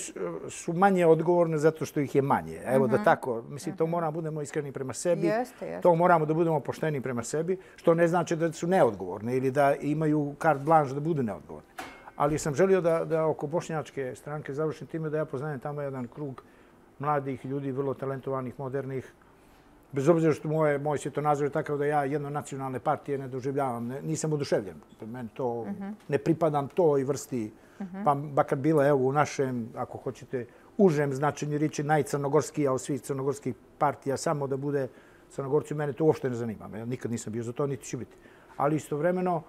su manje odgovorne zato što ih je manje. Evo da tako, mislim, to moramo da budemo iskreni prema sebi. Jeste, jeste. To moramo da budemo pošteni prema sebi, što ne znači da su neodgovorne ili da imaju carte blanche da budu neodgovorne. Ali sam želio da, da oko bošnjačke stranke završim time da ja poznajem tamo jedan krug mladih ljudi, vrlo talentovanih, modernih. Bez obzira što moje, moj svjetonazor je takav da ja jedno nacionalne partije ne doživljavam, ne, nisam oduševljen. Meni to, uh-huh. ne pripadam toj vrsti, uh-huh. pa bakar bila evo u našem, ako hoćete, užem značenju riječi najcrnogorskija od svih crnogorskih partija, samo da bude Crnogorci, mene to uopšte ne zanima. Ja nikad nisam bio za to, niti ću biti. Ali istovremeno,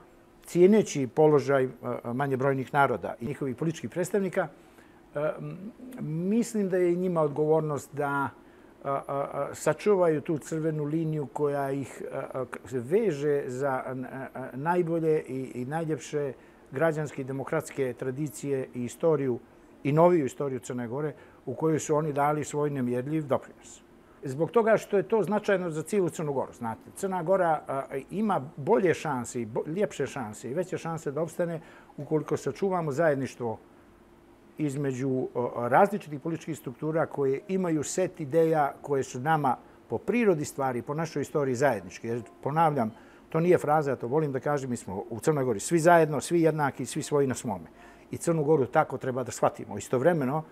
cijeneći položaj manje brojnih naroda i njihovih političkih predstavnika, mislim da je njima odgovornost da sačuvaju tu crvenu liniju koja ih veže za najbolje i najljepše građanske i demokratske tradicije i istoriju i noviju istoriju Crne Gore u kojoj su oni dali svoj nemjerljiv doprinos. Zbog toga što je to značajno za cijelu Crnu Goru. Znate, Crna Gora ima bolje šanse i ljepše šanse i veće šanse da opstane ukoliko sačuvamo zajedništvo između različitih političkih struktura koje imaju set ideja koje su nama po prirodi stvari, po našoj istoriji zajedničke. Jer, ponavljam, to nije fraza, ja to volim da kažem, mi smo u Crnoj Gori svi zajedno, svi jednaki, svi svoji na svome. I Crnu Goru tako treba da shvatimo. Istovremeno,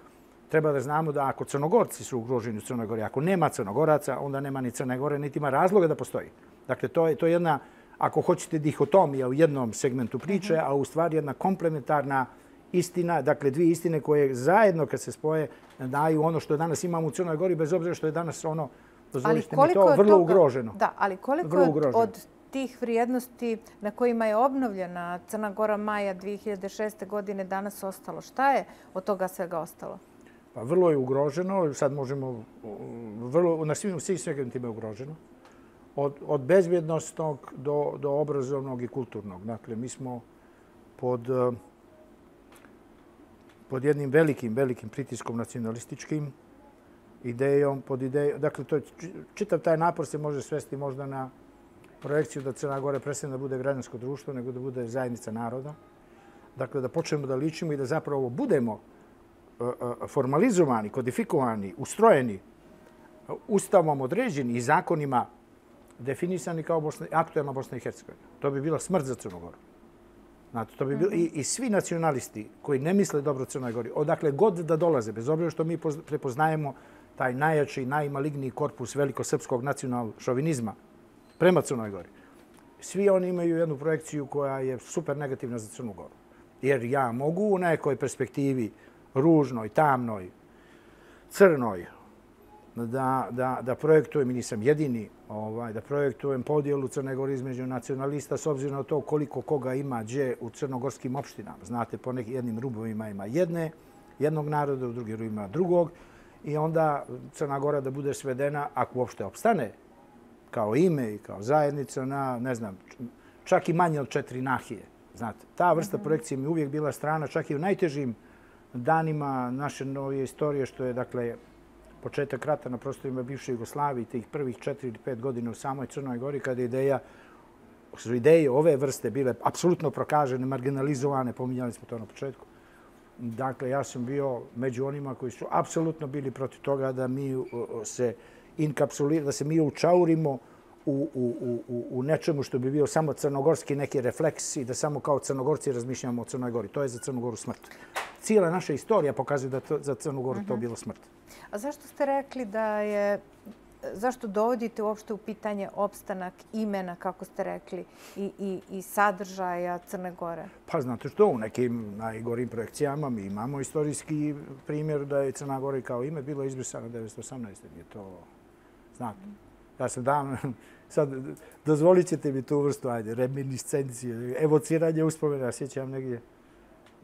treba da znamo da ako Crnogorci su ugroženi u Crnoj Gori, ako nema Crnogoraca, onda nema ni Crne Gore, niti ima razloga da postoji. Dakle, to je, to je jedna, ako hoćete, dihotomija u jednom segmentu priče, a u stvari jedna komplementarna istina, dakle dvije istine koje zajedno kad se spoje daju ono što danas imamo u Crnoj Gori, bez obzira što je danas ono, dozvolite mi to, vrlo toga, ugroženo. Da, ali koliko je od, od tih vrijednosti na kojima je obnovljena Crna Gora maja dvije hiljade šeste. godine danas ostalo? Šta je od toga svega ostalo? Pa vrlo je ugroženo, sad možemo, vrlo, na svim, svim segmentima je ugroženo. Od, od bezbjednostnog do, do obrazovnog i kulturnog. Dakle, mi smo pod, pod jednim velikim, velikim pritiskom nacionalističkim idejom, pod idejom, dakle, to je, čitav taj napor se može svesti možda na projekciju da Crna Gora prestane da bude građansko društvo, nego da bude zajednica naroda. Dakle, da počnemo da ličimo i da zapravo budemo formalizovani, kodifikovani, ustrojeni, ustavom određeni i zakonima definisani kao Bosna, aktuelna Bosna i Hercegovina. To bi bila smrt za Crnu Goru. Znate, to bi bilo, i, i svi nacionalisti koji ne misle dobro Crnoj Gori, odakle god da dolaze, bez obzira što mi prepoznajemo taj najjači, najmaligniji korpus velikosrpskog nacionalnog šovinizma prema Crnoj Gori, svi oni imaju jednu projekciju koja je super negativna za Crnu Goru. Jer ja mogu u nekoj perspektivi ružnoj, tamnoj, crnoj, da, da, da projektujem, i nisam jedini, ovaj, da projektujem podjelu Crne Gore između nacionalista s obzirom na to koliko koga ima gdje u crnogorskim opštinama. Znate, po nekim jednim rubovima ima jedne, jednog naroda, u drugim rubovima drugog. I onda Crna Gora da bude svedena, ako uopšte opstane, kao ime i kao zajednica, na, ne znam, čak i manje od četiri nahije. Znate, ta vrsta projekcije mi uvijek bila strana, čak i u najtežim danima naše novije istorije, što je, dakle, početak rata na prostorima bivše Jugoslavije, tih prvih četiri ili pet godina u samoj Crnoj Gori, kada ideja, su ideje ove vrste bile apsolutno prokažene, marginalizovane, pominjali smo to na početku. Dakle, ja sam bio među onima koji su apsolutno bili protiv toga da mi se inkapsuliramo, da se mi učaurimo u, u, u, u nečemu što bi bio samo crnogorski neki refleks i da samo kao Crnogorci razmišljamo o Crnoj Gori. To je za Crnu Goru smrt. Cijela naša istorija pokazuje da to, za Crnu Goru to bilo smrt. A zašto ste rekli da je, zašto dovodite uopšte u pitanje opstanak imena, kako ste rekli, i, i, i sadržaja Crne Gore? Pa znate što, u nekim najgorim projekcijama mi imamo istorijski primjer da je Crna Gora kao ime bilo izbrisano devetsto osamnaeste. Je to, znate, ja sam davno, sad dozvolit ćete mi tu vrstu, ajde, reminiscencije, evociranje uspomena, sjećam negdje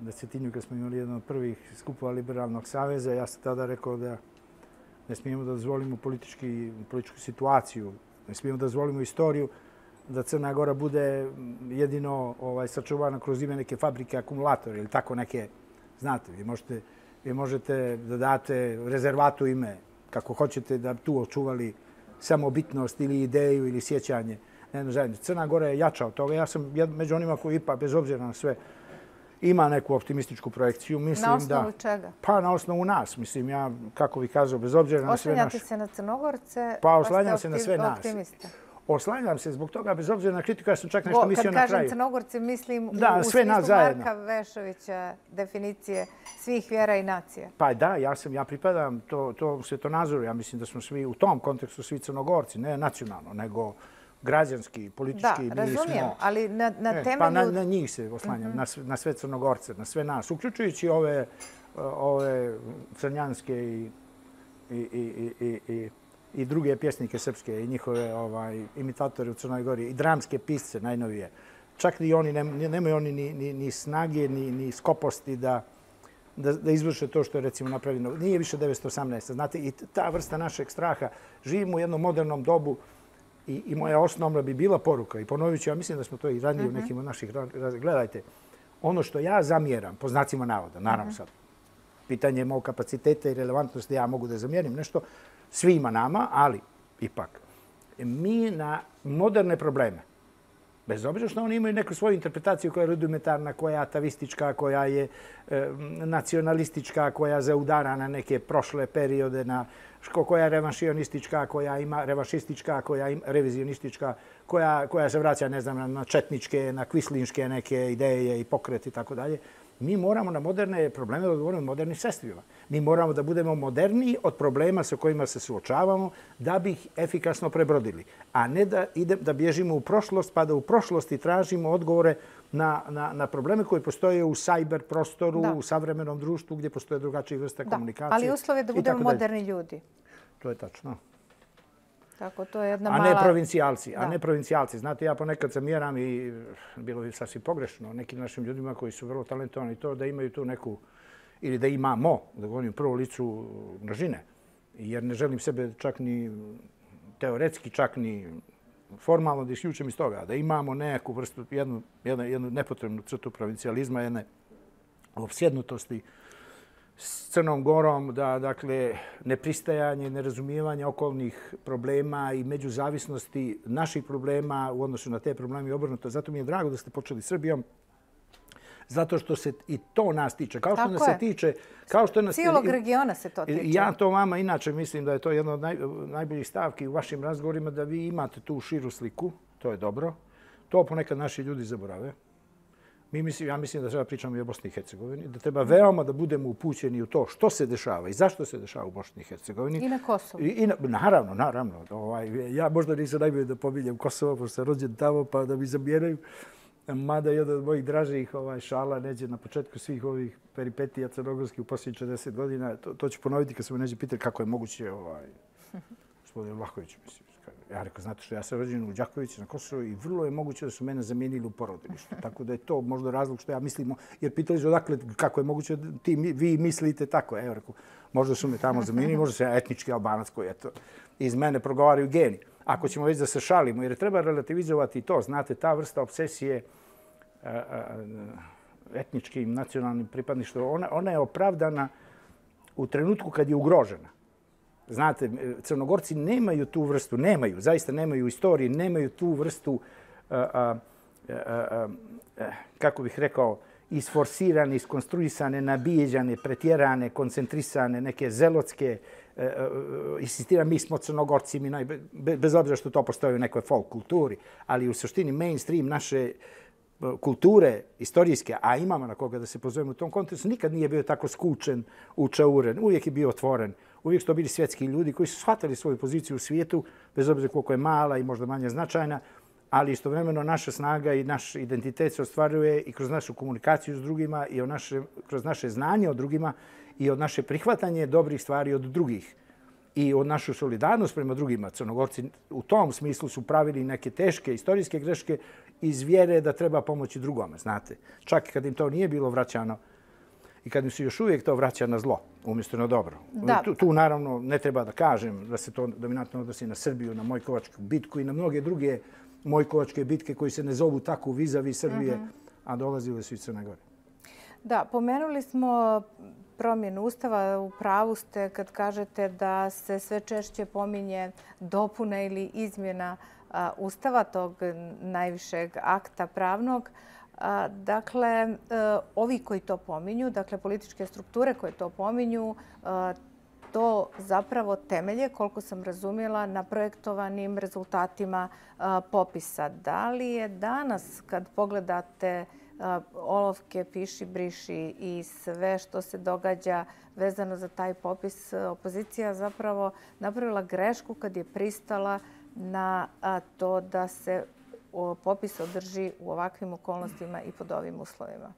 da Cetinju kad smo imali jedan od prvih skupova Liberalnog saveza, ja sam tada rekao da ne smijemo da dozvolimo politički, političku situaciju, ne smijemo da dozvolimo istoriju da Crna Gora bude jedino ovaj, sačuvana kroz ime neke fabrike akumulatora ili tako neke, znate, vi možete, vi možete da date rezervatu ime kako hoćete da tu očuvali samobitnost ili ideju ili sjećanje na jednu zajednicu. Crna Gora je jača od toga. Ja sam među onima koji ipak, bez obzira na sve, ima neku optimističku projekciju. Mislim, na osnovu da, čega? Pa na osnovu nas. Mislim, ja, kako bih kazao, bez obzira na sve naše... Oslanjate se na Crnogorce, pa oslanjam se na sve nas. Optimista. Oslanjam se zbog toga, bez obzira na kritiku, ja sam čak nešto mislio na kraju. Kad kažem Crnogorci, mislim da, u, u sve smislu nas zajedno. Marka Vešovića, definicije svih vjera i nacija. Pa da, ja sam, ja pripadam to, to svjetonazoru. Ja mislim da smo svi u tom kontekstu svi Crnogorci, ne nacionalno, nego građanski, politički. Da, razumijem, ali na, na e, temelju... Pa na, na njih se oslanjam, mm-hmm. na, sve, na sve Crnogorce, na sve nas, uključujući ove, ove crnjanske i, i, i, i, i, i druge pjesnike srpske i njihove ovaj, imitatori u Crnoj Gori i dramske pisce najnovije. Čak i oni, nemaju oni ni, ni, ni snage, ni, ni skoposti da, da, da izvrše to što je recimo napravljeno. Nije više devetsto osamnaeste. Znate, i ta vrsta našeg straha. Živimo u jednom modernom dobu i, i moja osnovna bi bila poruka. I ponovit ću, ja mislim da smo to i ranije mm-hmm. u nekim od naših... Gledajte, ono što ja zamjeram, po znacima navoda, naravno mm-hmm. sad, pitanje mog kapaciteta i relevantnosti, ja mogu da zamjerim nešto svima nama, ali ipak, mi na moderne probleme, bez obzira što oni imaju neku svoju interpretaciju koja je rudimentarna, koja je atavistička, koja je e, nacionalistička, koja zaudara na neke prošle periode, na, koja je revanšionistička, koja ima revanšistička, koja je revizionistička, koja, koja se vraća, ne znam, na četničke, na kvislinške neke ideje i pokreti i tako dalje. Mi moramo na moderne probleme da odgovorimo modernim sredstvima. Mi moramo da budemo moderniji od problema sa kojima se suočavamo da bi ih efikasno prebrodili. A ne da, ide, da bježimo u prošlost, pa da u prošlosti tražimo odgovore na, na, na probleme koji postoje u sajber prostoru, da. u savremenom društvu gdje postoje drugačije vrste da. komunikacije. Ali uslov je da budemo moderni ljudi. To je tačno. Tako, to je jedna a mala... ne provincijalci. Da. A ne provincijalci. Znate, ja ponekad zamjeram i bilo bi sasvim pogrešno nekim našim ljudima koji su vrlo talentovani to da imaju tu neku, ili da imamo, da govorim u prvom licu množine. Jer ne želim sebe čak ni teoretski, čak ni formalno da isključim iz toga. Da imamo neku vrstu, jednu, jednu, jednu nepotrebnu crtu provincijalizma, jedne opsjednutosti s Crnom Gorom, da, dakle, nepristajanje, nerazumijevanje okolnih problema i međuzavisnosti naših problema u odnosu na te probleme i obrnuto. Zato mi je drago da ste počeli Srbijom, zato što se i to nas tiče. Kao što Tako nas se je. tiče... Kao što nas, Cijelog regiona se to tiče. Ja to vama inače mislim da je to jedna od naj, najboljih stavki u vašim razgovorima, da vi imate tu širu sliku. To je dobro. To ponekad naši ljudi zaborave. Mi mislim, ja mislim da treba pričamo i o Bosni i Hercegovini, da treba veoma da budemo upućeni u to što se dešava i zašto se dešava u Bosni i Hercegovini. I na Kosovu. I, i na, naravno, naravno. Ovaj, ja možda nisam najbolje da pominjem Kosovo, pošto sam rođen tamo, pa da mi zamjeraju. Mada jedan od mojih dražih ovaj, šala neđe na početku svih ovih peripetija crnogorskih u posljednjih četrdeset godina. To, to ću ponoviti kad se me neđe pitati kako je moguće, ovaj, gospodin Vlahović, mislim. Ja rekao, znate što, ja sam rođen u Đakovici na Kosovo i vrlo je moguće da su mene zamijenili u porodilištu. Tako da je to možda razlog što ja mislimo, jer pitali su odakle, kako je moguće da ti, vi mislite tako. Evo, rekao, možda su me tamo zamijenili, možda sam ja etnički Albanac koji, eto, iz mene progovaraju geni. Ako ćemo već da se šalimo, jer treba relativizovati to, znate, ta vrsta obsesije a, a, etničkim, nacionalnim pripadništvom, ona, ona je opravdana u trenutku kad je ugrožena. Znate, Crnogorci nemaju tu vrstu, nemaju, zaista nemaju u istoriji, nemaju tu vrstu, a, a, a, a, kako bih rekao, isforsirane, iskonstruisane, nabijeđane, pretjerane, koncentrisane, neke zelotske, insistiram, mi smo Crnogorci, mi naj, bez obzira što to postoji u nekoj folk kulturi, ali u suštini mainstream naše kulture istorijske, a imamo na koga da se pozovemo u tom kontekstu, nikad nije bio tako skučen, učauren, uvijek je bio otvoren. Uvijek su to bili svjetski ljudi koji su shvatili svoju poziciju u svijetu, bez obzira koliko je mala i možda manje značajna, ali istovremeno naša snaga i naš identitet se ostvaruje i kroz našu komunikaciju s drugima i naše, kroz naše znanje o drugima i od naše prihvatanje dobrih stvari od drugih i od našu solidarnost prema drugima. Crnogorci u tom smislu su pravili neke teške istorijske greške iz vjere da treba pomoći drugome, znate. Čak i kad im to nije bilo vraćano i kad im se još uvijek to vraća na zlo, umjesto na dobro. Tu, tu naravno ne treba da kažem da se to dominantno odnosi na Srbiju, na Mojkovačku bitku i na mnoge druge Mojkovačke bitke koji se ne zovu tako vizavi Srbije, mm-hmm. a dolazile su iz Crne Gore. Da, pomenuli smo promjenu Ustava. U pravu ste kad kažete da se sve češće pominje dopuna ili izmjena a, Ustava, tog najvišeg akta pravnog. A, dakle, a, ovi koji to pominju, dakle političke strukture koje to pominju, a, to zapravo temelje, koliko sam razumjela, na projektovanim rezultatima a, popisa. Da li je danas, kad pogledate a, olovke, piši, briši i sve što se događa vezano za taj popis, opozicija zapravo napravila grešku kad je pristala na a, to da se o, popis održi u ovakvim okolnostima i pod ovim uslovima?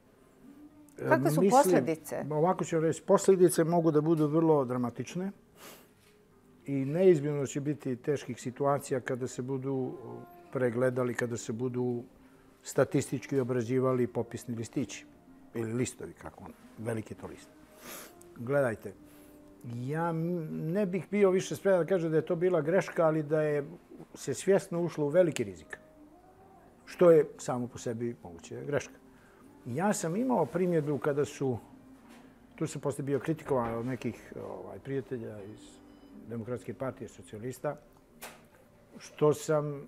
Kakve su Mislim, posljedice? Ovako ću reći, posljedice mogu da budu vrlo dramatične i neizmjerno će biti teških situacija kada se budu pregledali, kada se budu statistički obrađivali popisni listići ili listovi, kako on, veliki to list. Gledajte, ja ne bih bio više spreman da kažem da je to bila greška, ali da je se svjesno ušlo u veliki rizik, što je samo po sebi moguće greška. Ja sam imao primjedbu kada su, tu sam poslije bio kritikovan od nekih ovaj, prijatelja iz Demokratske partije socijalista, što sam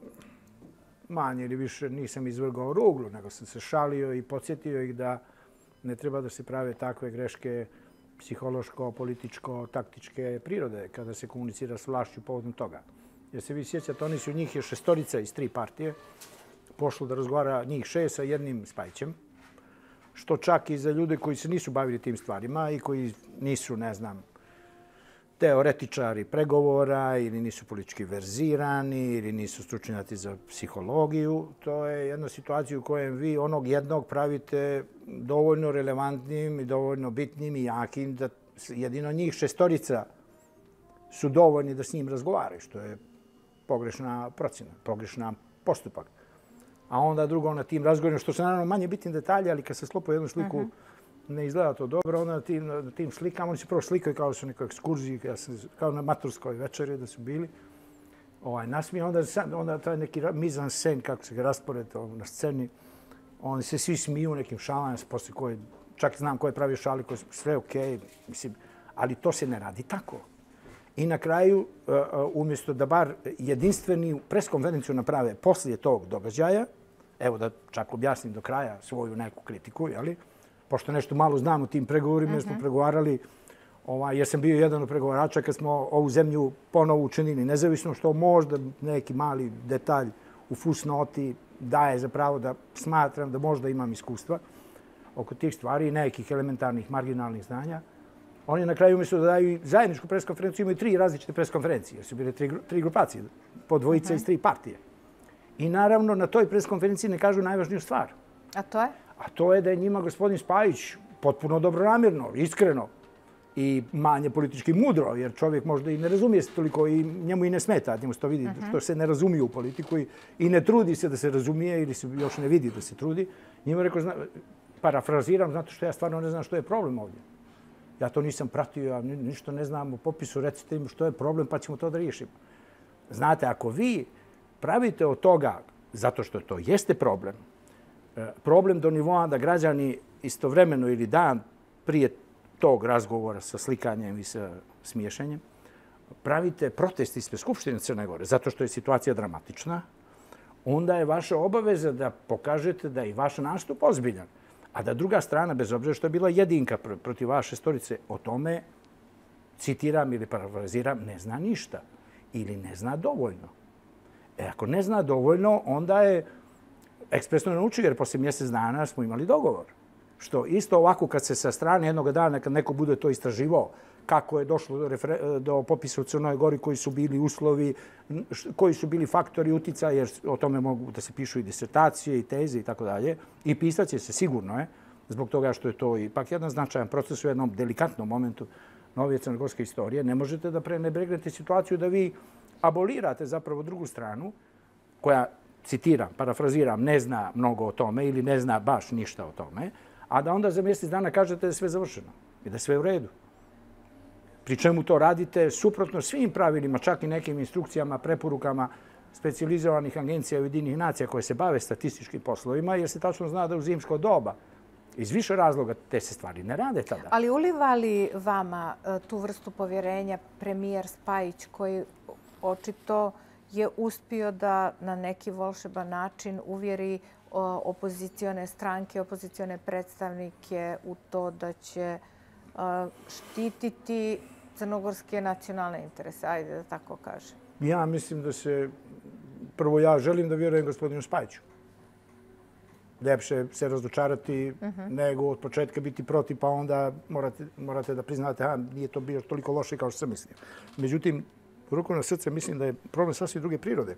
manje ili više nisam izvrgao ruglu, nego sam se šalio i podsjetio ih da ne treba da se prave takve greške psihološko, političko, taktičke prirode kada se komunicira s vlašću povodom toga. Jer se vi sjećate, oni su njih je šestorica iz tri partije, pošlo da razgovara njih šest sa jednim Spajićem. što čak i za ljude koji se nisu bavili tim stvarima i koji nisu, ne znam, teoretičari pregovora ili nisu politički verzirani ili nisu stručnjaci za psihologiju. To je jedna situacija u kojoj vi onog jednog pravite dovoljno relevantnim i dovoljno bitnim i jakim da jedino njih šestorica su dovoljni da s njim razgovaraju, što je pogrešna procjena, pogrešna postupak. A onda drugo na tim razgovorima, što su naravno manje bitni detalji, ali kad se sklopa jednu sliku, ne izgleda to dobro, onda na tim, na tim slikama, oni se prvo slikaju kao da su u nekoj ekskurziji, kao na maturskoj večeri da su bili. Ovaj, nasmije, onda, onda taj neki mizan sen, kako se ga raspored na sceni, oni se svi smiju nekim šalama, posle koje, čak znam ko je pravio šali, koje su sve okej, mislim, ali to se ne radi tako. I na kraju, umjesto da bar jedinstveni preskonferenciju naprave poslije tog događaja, evo da čak objasnim do kraja svoju neku kritiku, jeli? Pošto nešto malo znam o tim pregovorima, jer smo pregovarali, jer sam bio jedan od pregovarača kad smo ovu zemlju ponovo učinili nezavisno, što možda neki mali detalj u fusnoti daje za pravo da smatram da možda imam iskustva oko tih stvari i nekih elementarnih marginalnih znanja. Oni na kraju umjesto da daju zajedničku preskonferenciju imaju tri različite preskonferencije, jer su bile tri, tri grupacije, po dvojica iz tri partije. I naravno na toj preskonferenciji ne kažu najvažniju stvar. A to je? A to je da je njima gospodin Spajić potpuno dobronamjerno, iskreno i manje politički mudro, jer čovjek možda i ne razumije se toliko i njemu i ne smeta, njemu se to vidi, što se ne razumije u politiku i, i ne trudi se da se razumije ili se još ne vidi da se trudi. Njima rekao, zna, parafraziram, zato što ja stvarno ne znam što je problem ovdje. Ja to nisam pratio, ja ništa ne znam o popisu, recite im što je problem pa ćemo to da riješimo. Znate, ako vi pravite od toga, zato što to jeste problem, problem do nivoa da građani istovremeno ili dan prije tog razgovora sa slikanjem i sa smiješenjem, pravite protest ispred Skupštine Crne Gore, zato što je situacija dramatična, onda je vaša obaveza da pokažete da je i vaš nastup ozbiljan. A da druga strana, bez obzira što je bila jedinka protiv vaše storice, o tome, citiram ili parafraziram, ne zna ništa ili ne zna dovoljno. E, ako ne zna dovoljno, onda je ekspresno naučio, jer poslije mjesec dana smo imali dogovor. Što isto ovako kad se sa strane jednog dana, kad neko bude to istraživao, kako je došlo do, refer- do popisa u Crnoj Gori, koji su bili uslovi, koji su bili faktori uticaja, jer o tome mogu da se pišu i disertacije i teze i tako dalje. I pisat će se sigurno, je, zbog toga što je to ipak jedan značajan proces u jednom delikatnom momentu novije crnogorske istorije. Ne možete da prenebregnete situaciju da vi abolirate zapravo drugu stranu koja, citiram, parafraziram, ne zna mnogo o tome ili ne zna baš ništa o tome, a da onda za mjesec dana kažete da je sve završeno i da je sve u redu. Pri čemu to radite suprotno svim pravilima, čak i nekim instrukcijama, preporukama specijalizovanih agencija Ujedinjenih nacija koje se bave statističkim poslovima, jer se tačno zna da u zimsko doba iz više razloga te se stvari ne rade tada. Ali uliva li vama tu vrstu povjerenja premijer Spajić, koji očito je uspio da na neki volšeban način uvjeri opozicione stranke, opozicione predstavnike u to da će štititi crnogorske nacionalne interese, ajde da tako kažem? Ja mislim da se, prvo ja želim da vjerujem gospodinu Spajiću. Ljepše se razočarati nego od početka biti protiv, pa onda morate, morate da priznate da nije to bilo toliko loše kao što sam mislio. Međutim, ruku na srce mislim da je problem sasvim druge prirode.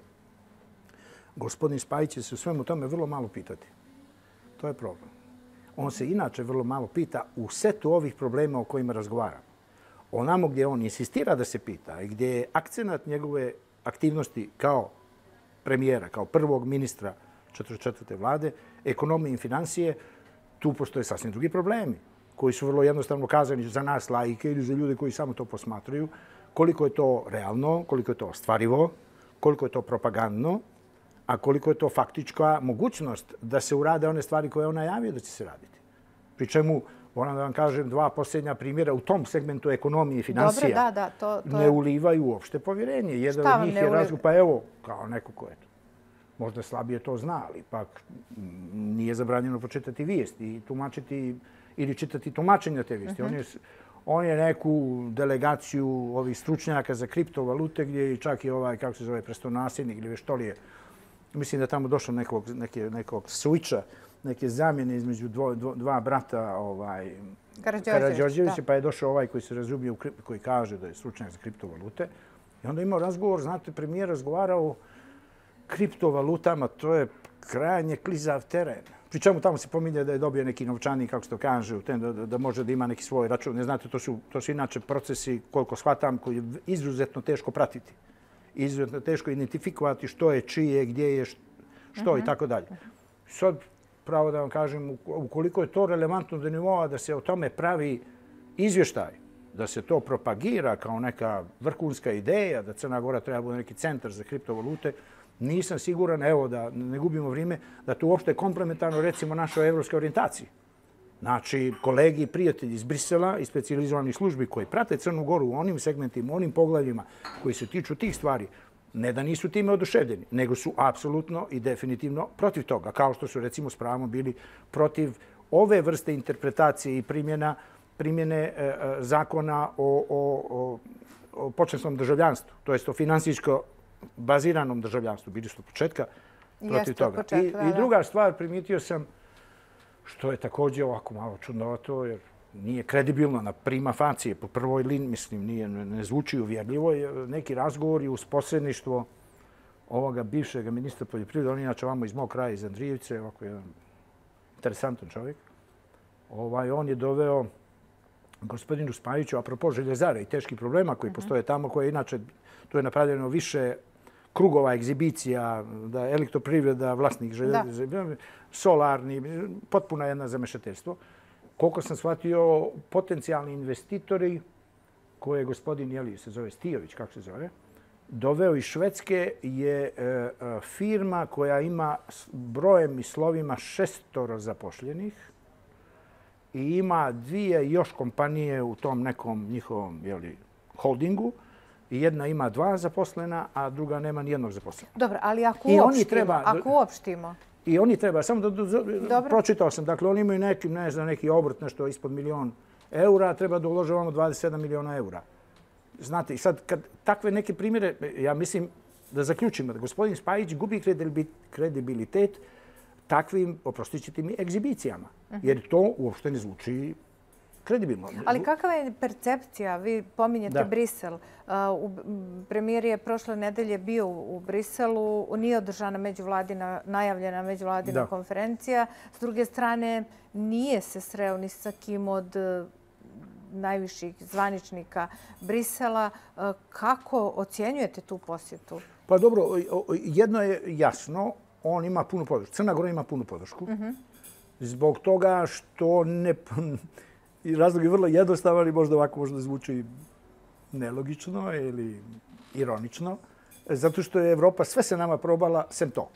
Gospodin Spajić će se u svemu tome vrlo malo pitati. To je problem. On se inače vrlo malo pita u setu ovih problema o kojima razgovara. Onamo gdje on insistira da se pita i gdje je akcenat njegove aktivnosti kao premijera, kao prvog ministra četrdeset četvrte vlade, ekonomije i financije, tu postoje sasvim drugi problemi koji su vrlo jednostavno kazani za nas laike ili za ljude koji samo to posmatruju. Koliko je to realno, koliko je to ostvarivo, koliko je to propagandno, a koliko je to faktička mogućnost da se urade one stvari koje on najavio da će se raditi. Pri čemu, moram da vam kažem, dva posljednja primjera u tom segmentu ekonomije i financija Dobre, da, da, to, to ne ulivaju uopšte povjerenje. Jedan od njih je razlog, pa evo, kao neko ko je to. Možda slabije to zna, ali ipak nije zabranjeno počitati vijesti i tumačiti ili čitati tumačenja te vijesti. On je, on je neku delegaciju ovih stručnjaka za kriptovalute gdje čak i ovaj, kako se zove, prestonasljednik ili već to li je, mislim da je tamo došlo nekog, neke, nekog switcha neke zamjene između dvo, dvo, dva brata ovaj, Karađorđevića, pa je došao ovaj koji se razumije, koji kaže da je stručnjak za kriptovalute. I onda je imao razgovor, znate, premijer razgovarao o kriptovalutama, to je krajnje klizav teren. Pri čemu tamo se pominje da je dobio neki novčanik, kako se to kaže, da, da, da može da ima neki svoj račun. Ne znate, to su, to su inače procesi, koliko shvatam, koji je izuzetno teško pratiti. Izuzetno teško identifikovati što je, čije, gdje je, što i tako dalje. Sad, pravo da vam kažem, ukoliko je to relevantno do nivoa da se o tome pravi izvještaj, da se to propagira kao neka vrhunska ideja, da Crna Gora treba bude neki centar za kriptovalute, nisam siguran, evo da ne gubimo vrijeme, da to uopšte je komplementarno recimo našoj evropskoj orijentaciji. Znači, kolegi i prijatelji iz Brisela i specijalizovanih službi koji prate Crnu Goru u onim segmentima, u onim poglavljima koji se tiču tih stvari, ne da nisu time oduševljeni, nego su apsolutno i definitivno protiv toga, kao što su recimo s pravom bili protiv ove vrste interpretacije i primjena primjene e, zakona o, o, o, o počasnom državljanstvu, to jest o finansijsko baziranom državljanstvu. Bili su od početka protiv Jeste, toga. Početka, I, da, I druga stvar, primijetio sam, što je također ovako malo čudnovato, jer nije kredibilno na prima facie, po prvoj liniji, mislim, nije, ne zvuči uvjerljivo, je neki razgovori uz posredništvo ovoga bivšeg ministra poljoprivrede, on je inače vamo iz mog kraja, iz Andrijevice, ovako jedan interesantan čovjek. Ovaj, on je doveo gospodinu Spajiću, apropo željezara i teških problema koji postoje tamo, koje inače, tu je napravljeno više krugova, egzibicija, da elektroprivreda, vlasnik željezara, solarni, potpuno jedna zamešateljstvo. Koliko sam shvatio, potencijalni investitori, koje je gospodin, jeli, se zove Stijović, kako se zove, doveo iz Švedske, je e, firma koja ima brojem i slovima šestoro zapošljenih i ima dvije još kompanije u tom nekom njihovom jeli, holdingu. I jedna ima dva zaposlena, a druga nema nijednog zaposlena. Dobro, ali ako uopštimo, treba, ako uopštimo... I oni treba, samo da, da pročitao sam, dakle oni imaju neki, ne znam, neki obrt, nešto ispod milion eura, treba da ulože ono dvadeset sedam miliona eura. Znate, i sad kad takve neke primjere, ja mislim da zaključimo da gospodin Spajić gubi kredibilitet takvim, oprostit ćete mi, egzibicijama. Jer to uopšte ne zvuči kredibilno. Ali kakva je percepcija? Vi pominjete da. Brisel. Uh, premijer je prošle nedelje bio u Briselu. Nije održana međuvladina, najavljena međuvladina da. konferencija. S druge strane, nije se sreo ni sa kim od uh, najviših zvaničnika Brisela. Uh, kako ocjenjujete tu posjetu? Pa dobro, jedno je jasno. On ima punu podršku. Crna Gora ima punu podršku. Uh-huh. Zbog toga što ne... I razlog je vrlo jednostavan i možda ovako možda zvuči nelogično ili ironično, zato što je Evropa sve se nama probala, sem to.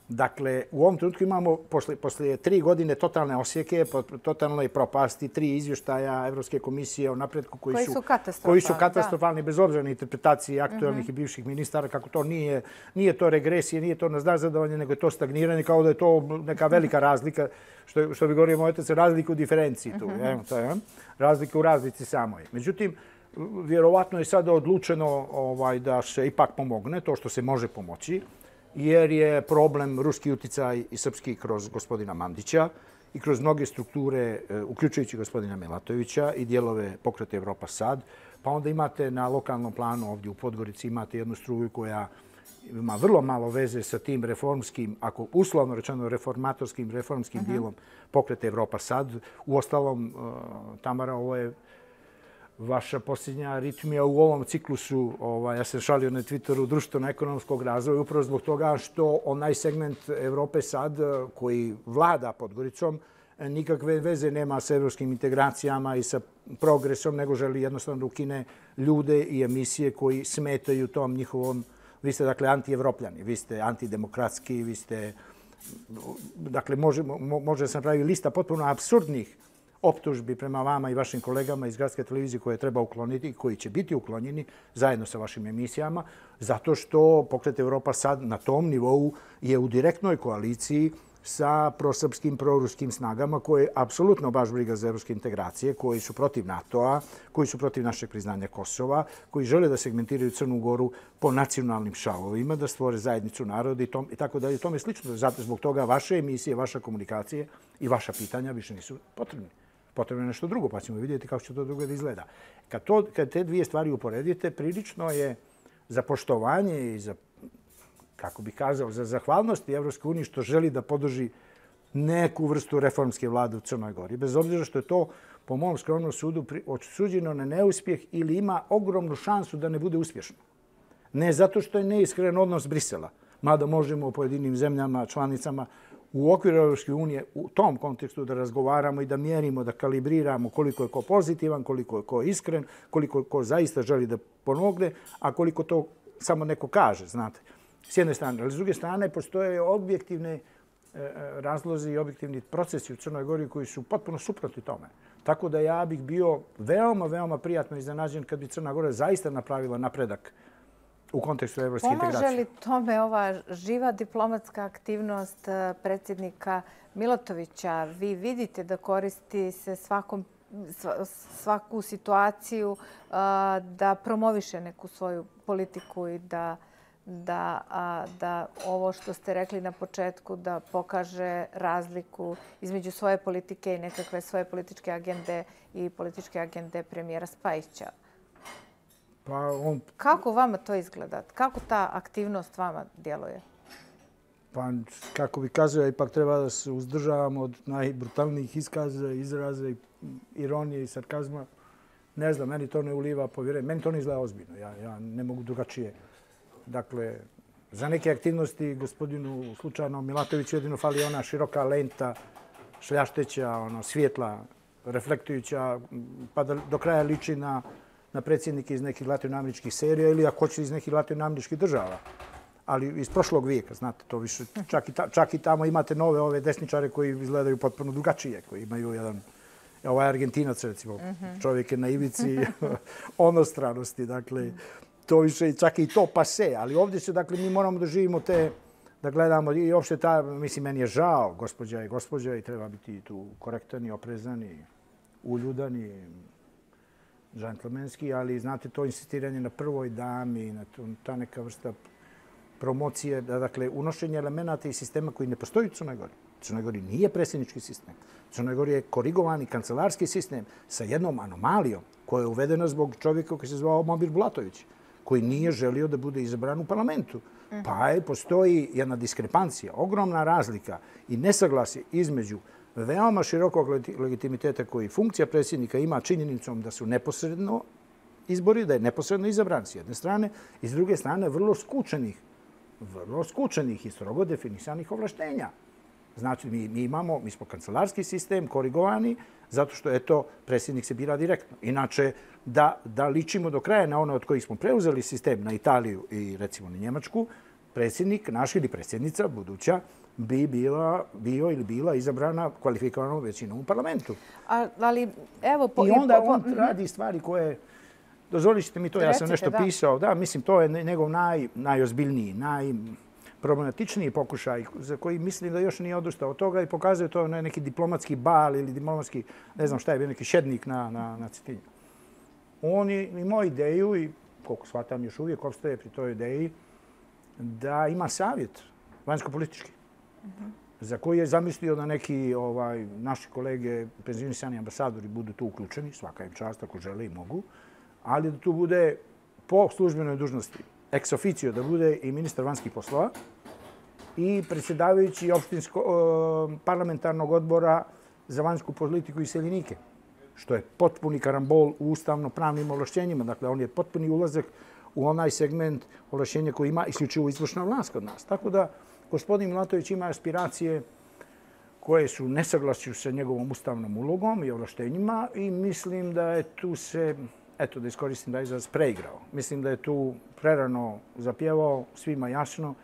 Dakle, u ovom trenutku imamo, posle, posle tri godine totalne osjeke, totalne propasti, tri izvještaja Evropske komisije o napretku koji, koji su, su katastrofalni, koji su katastrofalni bez obzira na interpretacije aktualnih uh-huh. i bivših ministara, kako to nije, nije to regresije, nije to nazadovanje, nego je to stagniranje, kao da je to neka velika razlika, što, što bi govorio moj otac, razlika u diferenciji tu. Uh-huh. Je, to je, razlika u razlici samoj. Međutim, vjerovatno je sada odlučeno ovaj, da se ipak pomogne to što se može pomoći, jer je problem ruski uticaj i srpski kroz gospodina Mandića i kroz mnoge strukture, uključujući gospodina Melatovića i dijelove pokreta Evropa Sad. Pa onda imate na lokalnom planu ovdje u Podgorici imate jednu struju koja ima vrlo malo veze sa tim reformskim, ako uslovno rečeno reformatorskim, reformskim uh-huh. dijelom pokreta Evropa Sad. Uostalom, Tamara, ovo je vaša posljednja aritmija u ovom ciklusu, ovaj, ja sam šalio na Twitteru, društveno-ekonomskog razvoja, upravo zbog toga što onaj segment Evrope Sad koji vlada Podgoricom nikakve veze nema sa evropskim integracijama i sa progresom, nego želi jednostavno da ukine ljude i emisije koji smetaju tom njihovom, vi ste dakle anti-evropljani, vi ste antidemokratski, vi ste, dakle može, može se napraviti lista potpuno apsurdnih optužbi prema vama i vašim kolegama iz Gradske televizije koje treba ukloniti i koji će biti uklonjeni zajedno sa vašim emisijama, zato što pokret Evropa Sad na tom nivou je u direktnoj koaliciji sa prosrpskim, proruskim snagama koje apsolutno baš briga za evropske integracije, koji su protiv NATO-a, koji su protiv našeg priznanja Kosova, koji žele da segmentiraju Crnu Goru po nacionalnim šavovima, da stvore zajednicu naroda i, tom, i tako dalje. Tome je slično. Zato zbog toga vaše emisije, vaša komunikacije i vaša pitanja više nisu potrebni. Potrebno je nešto drugo, pa ćemo vidjeti kako će to drugo da izgleda. Kad, to, kad te dvije stvari uporedite, prilično je za poštovanje i za, kako bih kazao, za zahvalnost Evropske unije što želi da podrži neku vrstu reformske vlade u Crnoj Gori. Bez obzira što je to, po mom skromnom sudu, osuđeno na neuspjeh ili ima ogromnu šansu da ne bude uspješno. Ne zato što je neiskren odnos Brisela, mada možemo u pojedinim zemljama, članicama, u okviru Evropske unije u tom kontekstu da razgovaramo i da mjerimo, da kalibriramo koliko je ko pozitivan, koliko je ko iskren, koliko je ko zaista želi da pomogne, a koliko to samo neko kaže, znate. S jedne strane, ali s druge strane postoje objektivne razlozi i objektivni procesi u Crnoj Gori koji su potpuno suprotni tome. Tako da ja bih bio veoma, veoma prijatno iznenađen kad bi Crna Gora zaista napravila napredak u kontekstu evropske integracije. Pomaže li tome ova živa diplomatska aktivnost predsjednika Milatovića? Vi vidite da koristi se svakom, svaku situaciju da promoviše neku svoju politiku i da, da, da ovo što ste rekli na početku, da pokaže razliku između svoje politike i nekakve svoje političke agende i političke agende premijera Spajića. Pa on... Kako vama to izgleda? Kako ta aktivnost vama djeluje? Pa, kako bi kazao, ipak treba da se uzdržavamo od najbrutalnijih iskaza, izraza, ironije i sarkazma. Ne znam, meni to ne uliva povjerenje. Meni to ne izgleda ozbiljno. Ja, ja ne mogu drugačije. Dakle, za neke aktivnosti gospodinu slučajno Milatoviću jedino fali ona široka lenta, šljašteća, ono, svjetla, reflektujuća, pa da do kraja liči na na predsjednike iz nekih latinoameričkih serija ili ako hoće iz nekih latinoameričkih država. Ali iz prošlog vijeka, znate, to više, čak i, ta, čak i tamo imate nove ove desničare koji izgledaju potpuno drugačije, koji imaju jedan, ovaj Argentinac recimo, čovjek je na ivici onostranosti, dakle, to više, čak i to pase, ali ovdje se, dakle, mi moramo da živimo te, da gledamo i uopšte ta, mislim, meni je žao, gospođa i gospođa i treba biti tu korektan i oprezan i uljudan i džentlmenski, ali znate, to insistiranje na prvoj dami, na ta neka vrsta promocije, dakle, unošenje elemenata i sistema koji ne postoji u Crnoj Gori. Crnoj Gori nije predsjednički sistem. Crnoj Gori je korigovani kancelarski sistem sa jednom anomalijom koja je uvedena zbog čovjeka koji se zvao Momir Bulatović, koji nije želio da bude izabran u parlamentu. Pa je, postoji jedna diskrepancija, ogromna razlika i nesaglasje između veoma širokog legitimiteta koji funkcija predsjednika ima činjenicom da su neposredno izbori, da je neposredno izabran s jedne strane i s druge strane vrlo skučenih, vrlo skučenih i strogo definisanih ovlaštenja. Znači, mi, mi imamo, mi smo kancelarski sistem korigovani zato što, eto, predsjednik se bira direktno. Inače, da, da ličimo do kraja na ono od kojih smo preuzeli sistem na Italiju i recimo na Njemačku, predsjednik, naš ili predsjednica, buduća, bi bila, bio ili bila izabrana kvalifikovanom većinom u parlamentu. A, ali, evo... Po, I onda po, po, on radi stvari koje... Dozvolit ćete mi to, ja sam nešto da. pisao. Da, mislim, to je njegov naj, najozbiljniji, najproblematičniji pokušaj za koji mislim da još nije odustao od toga i pokazuje to na neki diplomatski bal ili diplomatski, ne znam šta je bio, neki šednik na, na, na Cetinju. On je imao ideju i, koliko shvatam, još uvijek opstaje pri toj ideji, da ima savjet vanjsko-politički, uh-huh. za koji je zamislio da neki ovaj, naši kolege, penzionisani ambasadori, budu tu uključeni, svaka im čast ako žele i mogu, ali da tu bude po službenoj dužnosti ex officio, da bude i ministar vanjskih poslova i predsjedavajući opštinsko, parlamentarnog odbora za vanjsku politiku i seljenike, što je potpuni karambol u ustavno-pravnim ovlašćenjima. Dakle, on je potpuni ulazak u onaj segment ovlašćenja koji ima isključivo izvršna vlast kod nas. Tako da, gospodin Milatović ima aspiracije koje su u nesaglasju sa njegovom ustavnom ulogom i ovlaštenjima i mislim da je tu se, eto da iskoristim da izraz, preigrao. Mislim da je tu prerano zapjevao, svima jasno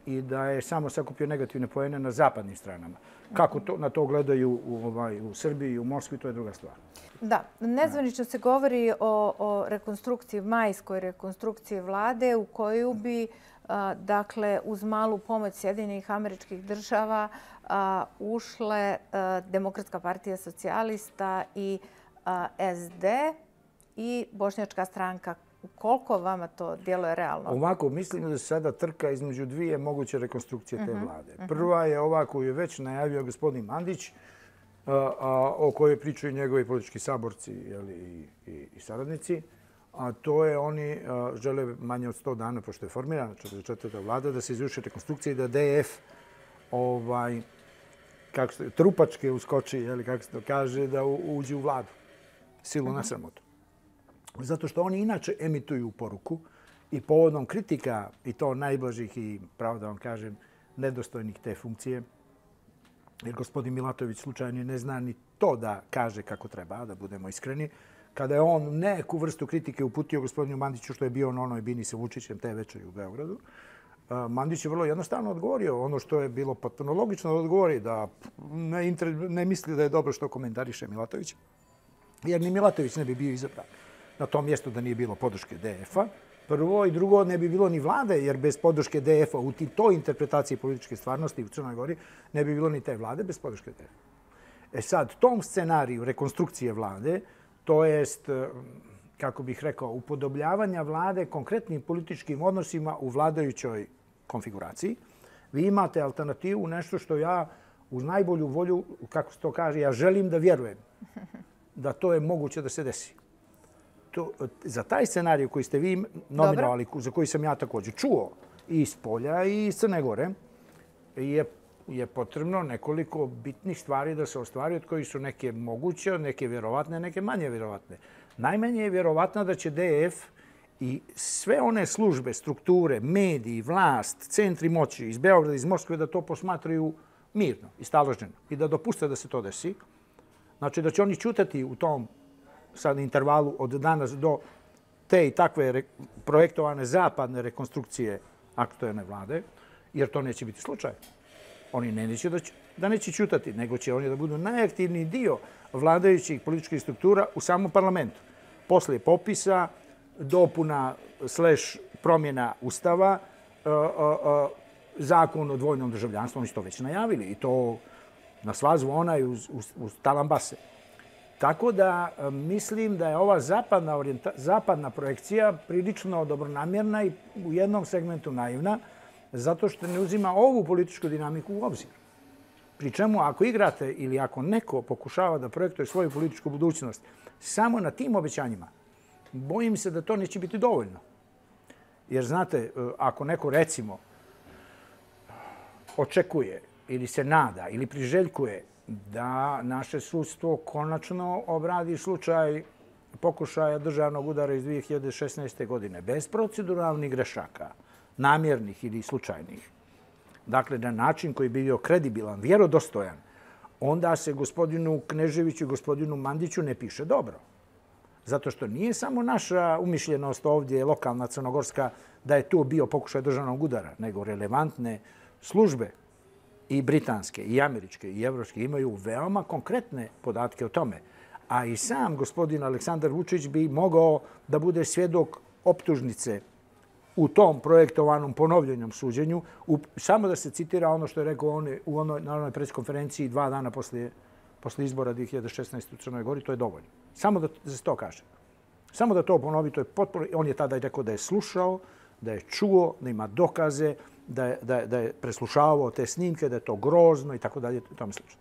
i da je samo sakupio negativne poene na zapadnim stranama. Kako to, na to gledaju u, ovaj, u Srbiji i u Moskvi, to je druga stvar. Da, nezvanično se govori o, o rekonstrukciji, majskoj rekonstrukciji vlade u koju bi a, dakle, uz malu pomoć Sjedinjenih Američkih Država a, ušle a, Demokratska partija socijalista i a, S D i Bošnjačka stranka. Koliko vama to djeluje realno? Ovako, mislim da se sada trka između dvije moguće rekonstrukcije te vlade. Prva je ova koju je već najavio gospodin Mandić, a, a, o kojoj pričaju njegovi politički saborci jeli, i, i, i saradnici. A to je oni a, žele manje od sto dana, pošto je formirana četrdeset četvrta vlada, da se izvrši rekonstrukcija i da D F ovaj, kako se, trupačke uskoči, jeli, kako se to kaže, da u, uđe u vladu. Silu na sramotu. Zato što oni inače emituju poruku i povodom kritika, i to najblažih i, pravo da vam kažem, nedostojnih te funkcije, jer gospodin Milatović slučajno ne zna ni to da kaže kako treba, da budemo iskreni, kada je on neku vrstu kritike uputio gospodinu Mandiću, što je bio na onoj bini sa Vučićem te večeri u Beogradu, Mandić je vrlo jednostavno odgovorio ono što je bilo potpuno logično da odgovori, da ne, inter... ne misli da je dobro što komentariše Milatović, jer ni Milatović ne bi bio izabran na tom mjestu da nije bilo podrške D F-a. Prvo i drugo, ne bi bilo ni vlade, jer bez podrške D F-a u toj interpretaciji političke stvarnosti u Crnoj Gori ne bi bilo ni te vlade bez podrške D F-a. E sad, tom scenariju rekonstrukcije vlade, to jest, kako bih rekao, upodobljavanja vlade konkretnim političkim odnosima u vladajućoj konfiguraciji, vi imate alternativu, nešto što ja uz najbolju volju, kako se to kaže, ja želim da vjerujem da to je moguće da se desi. To, za taj scenarij koji ste vi nominovali, Dobre. za koji sam ja također čuo i iz Polja i iz Crne Gore, je, je potrebno nekoliko bitnih stvari da se ostvari, od kojih su neke moguće, neke vjerovatne, neke manje vjerovatne. Najmanje je vjerovatno da će D F i sve one službe, strukture, mediji, vlast, centri moći iz Beograda, iz Moskve, da to posmatraju mirno i staloženo i da dopuste da se to desi. Znači da će oni ćutati u tom sad intervalu od danas do te i takve re, projektovane zapadne rekonstrukcije aktuelne vlade, jer to neće biti slučaj. Oni ne neće da, da neće ćutati, nego će oni da budu najaktivniji dio vladajućih političkih struktura u samom parlamentu. Poslije popisa, dopuna slash promjena ustava, uh, uh, uh, zakon o dvojnom državljanstvu, oni su to već najavili i to na sva zvona i uz, uz, uz talambase. Tako da mislim da je ova zapadna, orijenta, zapadna projekcija prilično dobronamjerna i u jednom segmentu naivna, zato što ne uzima ovu političku dinamiku u obzir. Pri čemu ako igrate ili ako neko pokušava da projektuje svoju političku budućnost samo na tim obećanjima, bojim se da to neće biti dovoljno. Jer znate, ako neko recimo očekuje ili se nada ili priželjkuje da naše sudstvo konačno obradi slučaj pokušaja državnog udara iz dvije hiljade šesnaeste. godine bez proceduralnih grešaka, namjernih ili slučajnih, dakle na način koji bi bio kredibilan, vjerodostojan, onda se gospodinu Kneževiću i gospodinu Mandiću ne piše dobro. Zato što nije samo naša umišljenost ovdje, lokalna crnogorska, da je tu bio pokušaj državnog udara, nego relevantne službe i britanske, i američke, i evropske imaju veoma konkretne podatke o tome. A i sam gospodin Aleksandar Vučić bi mogao da bude svjedok optužnice u tom projektovanom ponovljenom suđenju, u, samo da se citira ono što je rekao on u onoj, na onoj preskonferenciji dva dana poslije, poslije izbora dvije hiljade šesnaeste. u Crnoj Gori, to je dovoljno. Samo da, da se to kaže. Samo da to ponovi, to je potpuno... On je tada i rekao da je slušao, da je čuo, da ima dokaze, da je, da je, da je preslušavao te snimke, da je to grozno i tako dalje, tome slično.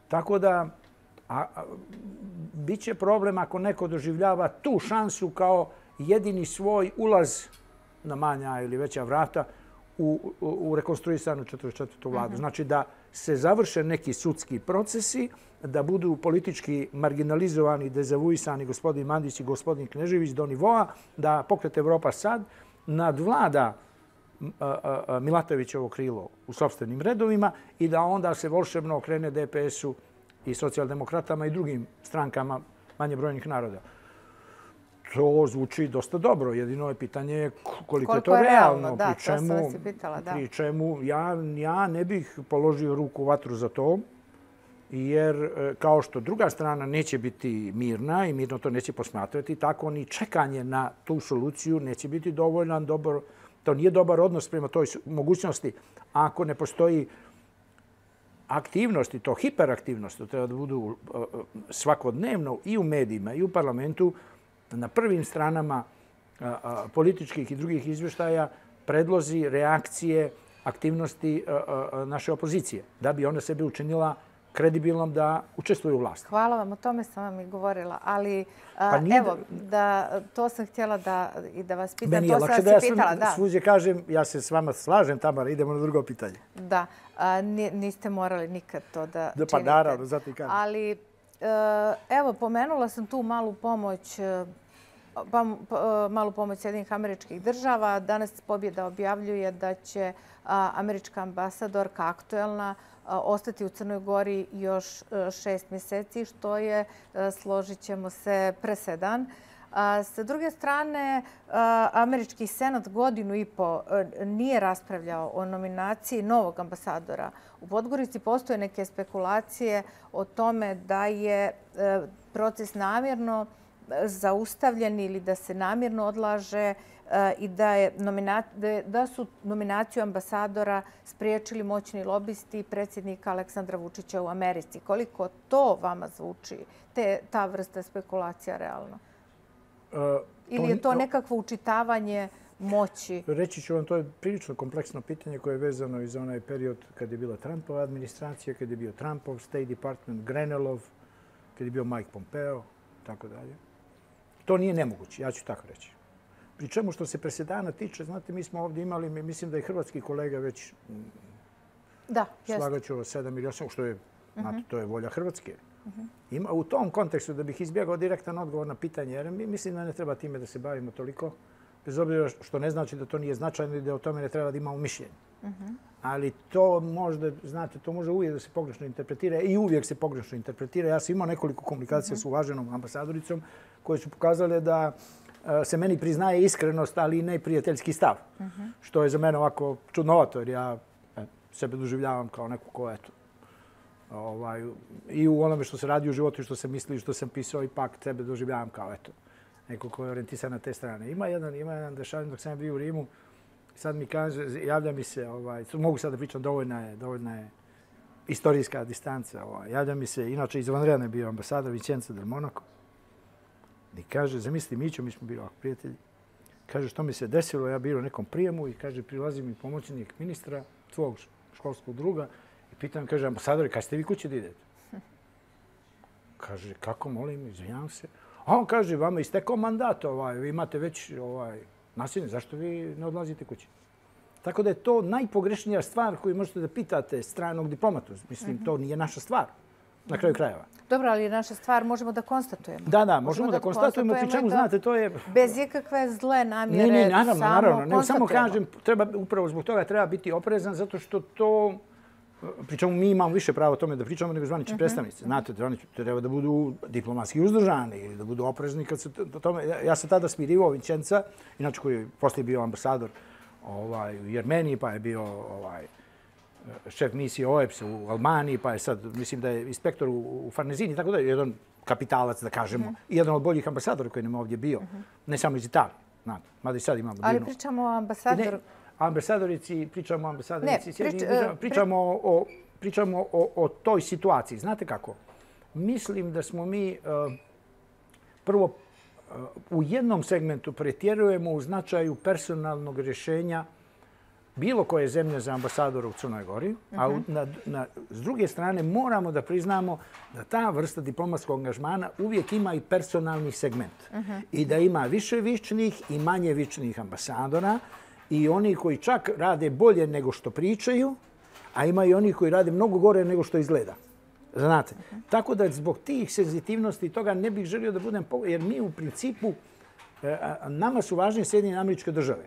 Tako da, a, a, bit će problem ako neko doživljava tu šansu kao jedini svoj ulaz na manja ili veća vrata u, u, u rekonstruisanu četrdeset četvrtu vladu. Uh-huh. Znači da se završe neki sudski procesi, da budu politički marginalizovani, dezavuisani gospodin Mandić i gospodin Knežević do nivoa da Pokret Evropa sad nadvlada Milatovićevo krilo u sopstvenim redovima i da onda se volšebno okrene D P S-u i socijaldemokratama i drugim strankama manje brojnih naroda. To zvuči dosta dobro. Jedino je pitanje koliko je to realno. Da, to sam vas i pitala, da. Pri čemu ja ne bih položio ruku u vatru za to, jer kao što druga strana neće biti mirna i mirno to neće posmatrati, tako ni čekanje na tu soluciju neće biti dovoljan dobar. To nije dobar odnos prema toj mogućnosti. Ako ne postoji aktivnost i to hiperaktivnost, to treba da budu svakodnevno i u medijima i u parlamentu, na prvim stranama političkih i drugih izvještaja predlozi, reakcije, aktivnosti naše opozicije, da bi ona sebe učinila kredibilnom da učestvuje u vlasti. Hvala vam, o tome sam vam i govorila, ali evo, to sam htjela i da vas pitam. Meni je lakše da ja svuđe kažem, ja se s vama slažem, Tamara, idemo na drugo pitanje. Da, niste morali nikad to da činite. Pa naravno, zato i kažem. Ali evo, pomenula sam tu malu pomoć malu pomoć Sjedinjenih Američkih Država. Danas Pobjeda objavljuje da će američka ambasadorka aktuelna ostati u Crnoj Gori još šest mjeseci, što je, složit ćemo se, presedan. Sa druge strane, američki senat godinu i po nije raspravljao o nominaciji novog ambasadora. U Podgorici postoje neke spekulacije o tome da je proces namjerno zaustavljen ili da se namjerno odlaže i da su nominaciju ambasadora spriječili moćni lobisti predsjednika Aleksandra Vučića u Americi. Koliko to vama zvuči, ta vrsta spekulacija realno? Ili je to nekakvo učitavanje moći? Reći ću vam, to je prilično kompleksno pitanje koje je vezano i za onaj period kad je bila Trumpova administracija, kad je bio Trumpov State Department, Grenellov, kad je bio Mike Pompeo, tako dalje. To nije nemoguće, ja ću tako reći. Pri čemu što se presedana tiče, znate, mi smo ovdje imali, mislim da je hrvatski kolega već slagaću sedam ili osam, što je, znate, to je volja Hrvatske. U tom kontekstu, da bih izbjegao direktan odgovor na pitanje, jer mislim da ne treba time da se bavimo toliko, bez obzira što ne znači da to nije značajno i da o tome ne treba da imamo mišljenje. Ali to možda, znate, to može uvijek da se pogrešno interpretira i uvijek se pogrešno interpretira. Ja sam imao nekoliko komunikacija s uvaženom ambasadoricom koje su pokazale da se meni priznaje iskrenost, ali i neprijateljski stav. Što je za mene ovako čudnovato, jer ja sebe doživljavam kao neku ko, eto, i u onome što se radi u životu i što sam mislio i što sam pisao, ipak sebe doživljavam kao, eto, neko ko je orijentisan na te strane. Ima jedan, ima jedan dešavanje dok sam bio u Rimu. Sad mi kaže, javlja mi se, mogu sad da pričam, dovoljna je istorijska distanca. Javlja mi se, inače izvanredno je bio ambasador Vincenzo del Monaco. I kaže, zamisli Mićo, mi smo bili ovako prijatelji. Kaže, što mi se desilo, ja bio u nekom prijemu i kaže, prilazi mi pomoćnik ministra, tvog školskog druga, i pitam, kaže, ambasadori, kad ste vi kući da idete? Kaže, kako, molim, izvinjam se. A on kaže, vama istekao mandat, vi imate već nasilje, zašto vi ne odlazite kući? Tako da je to najpogrešnija stvar koju možete da pitate stranog diplomatu. Mislim, to nije naša stvar, na kraju krajeva. Dobro, ali naša stvar možemo da konstatujemo. Da, da, možemo da konstatujemo, pri čemu, znate, to je... Bez ikakve zle namjere, ne, ne, naravno, naravno. Ne, samo kažem, upravo zbog toga treba biti oprezan, zato što to... Pri čemu mi imamo više pravo o tome da pričamo nego zvanični predstavnici. Znate, oni treba da budu diplomatski uzdržani ili da budu oprezni kad se tome... Ja sam tada smirivao Vincenza, inače koji je poslije bio ambasador u Jermeniji, pa je bio šef misije O E P S u Albaniji, pa je sad, mislim da je inspektor u Farnezini, tako da je jedan kapitalac, da kažemo, i jedan od boljih ambasadora koji nam je ovdje bio, ne samo iz Italije, znate, mada i sad imamo divnu. Ali pričamo o ambasadoru... Ambasadorici, pričamo o ambasadorici, pričamo o toj situaciji. Znate kako? Mislim da smo mi prvo u jednom segmentu pretjerujemo u značaju personalnog rješenja bilo koje zemlje za ambasadora u Crnoj Gori, a s druge strane moramo da priznamo da ta vrsta diplomatskog angažmana uvijek ima i personalni segment i da ima više vičnih i manje vičnih ambasadora i oni koji čak rade bolje nego što pričaju, a ima i oni koji rade mnogo gore nego što izgleda. Znate, tako da zbog tih senzitivnosti toga ne bih želio da budem, jer mi u principu, nama su važnije Sjedinjene Američke Države,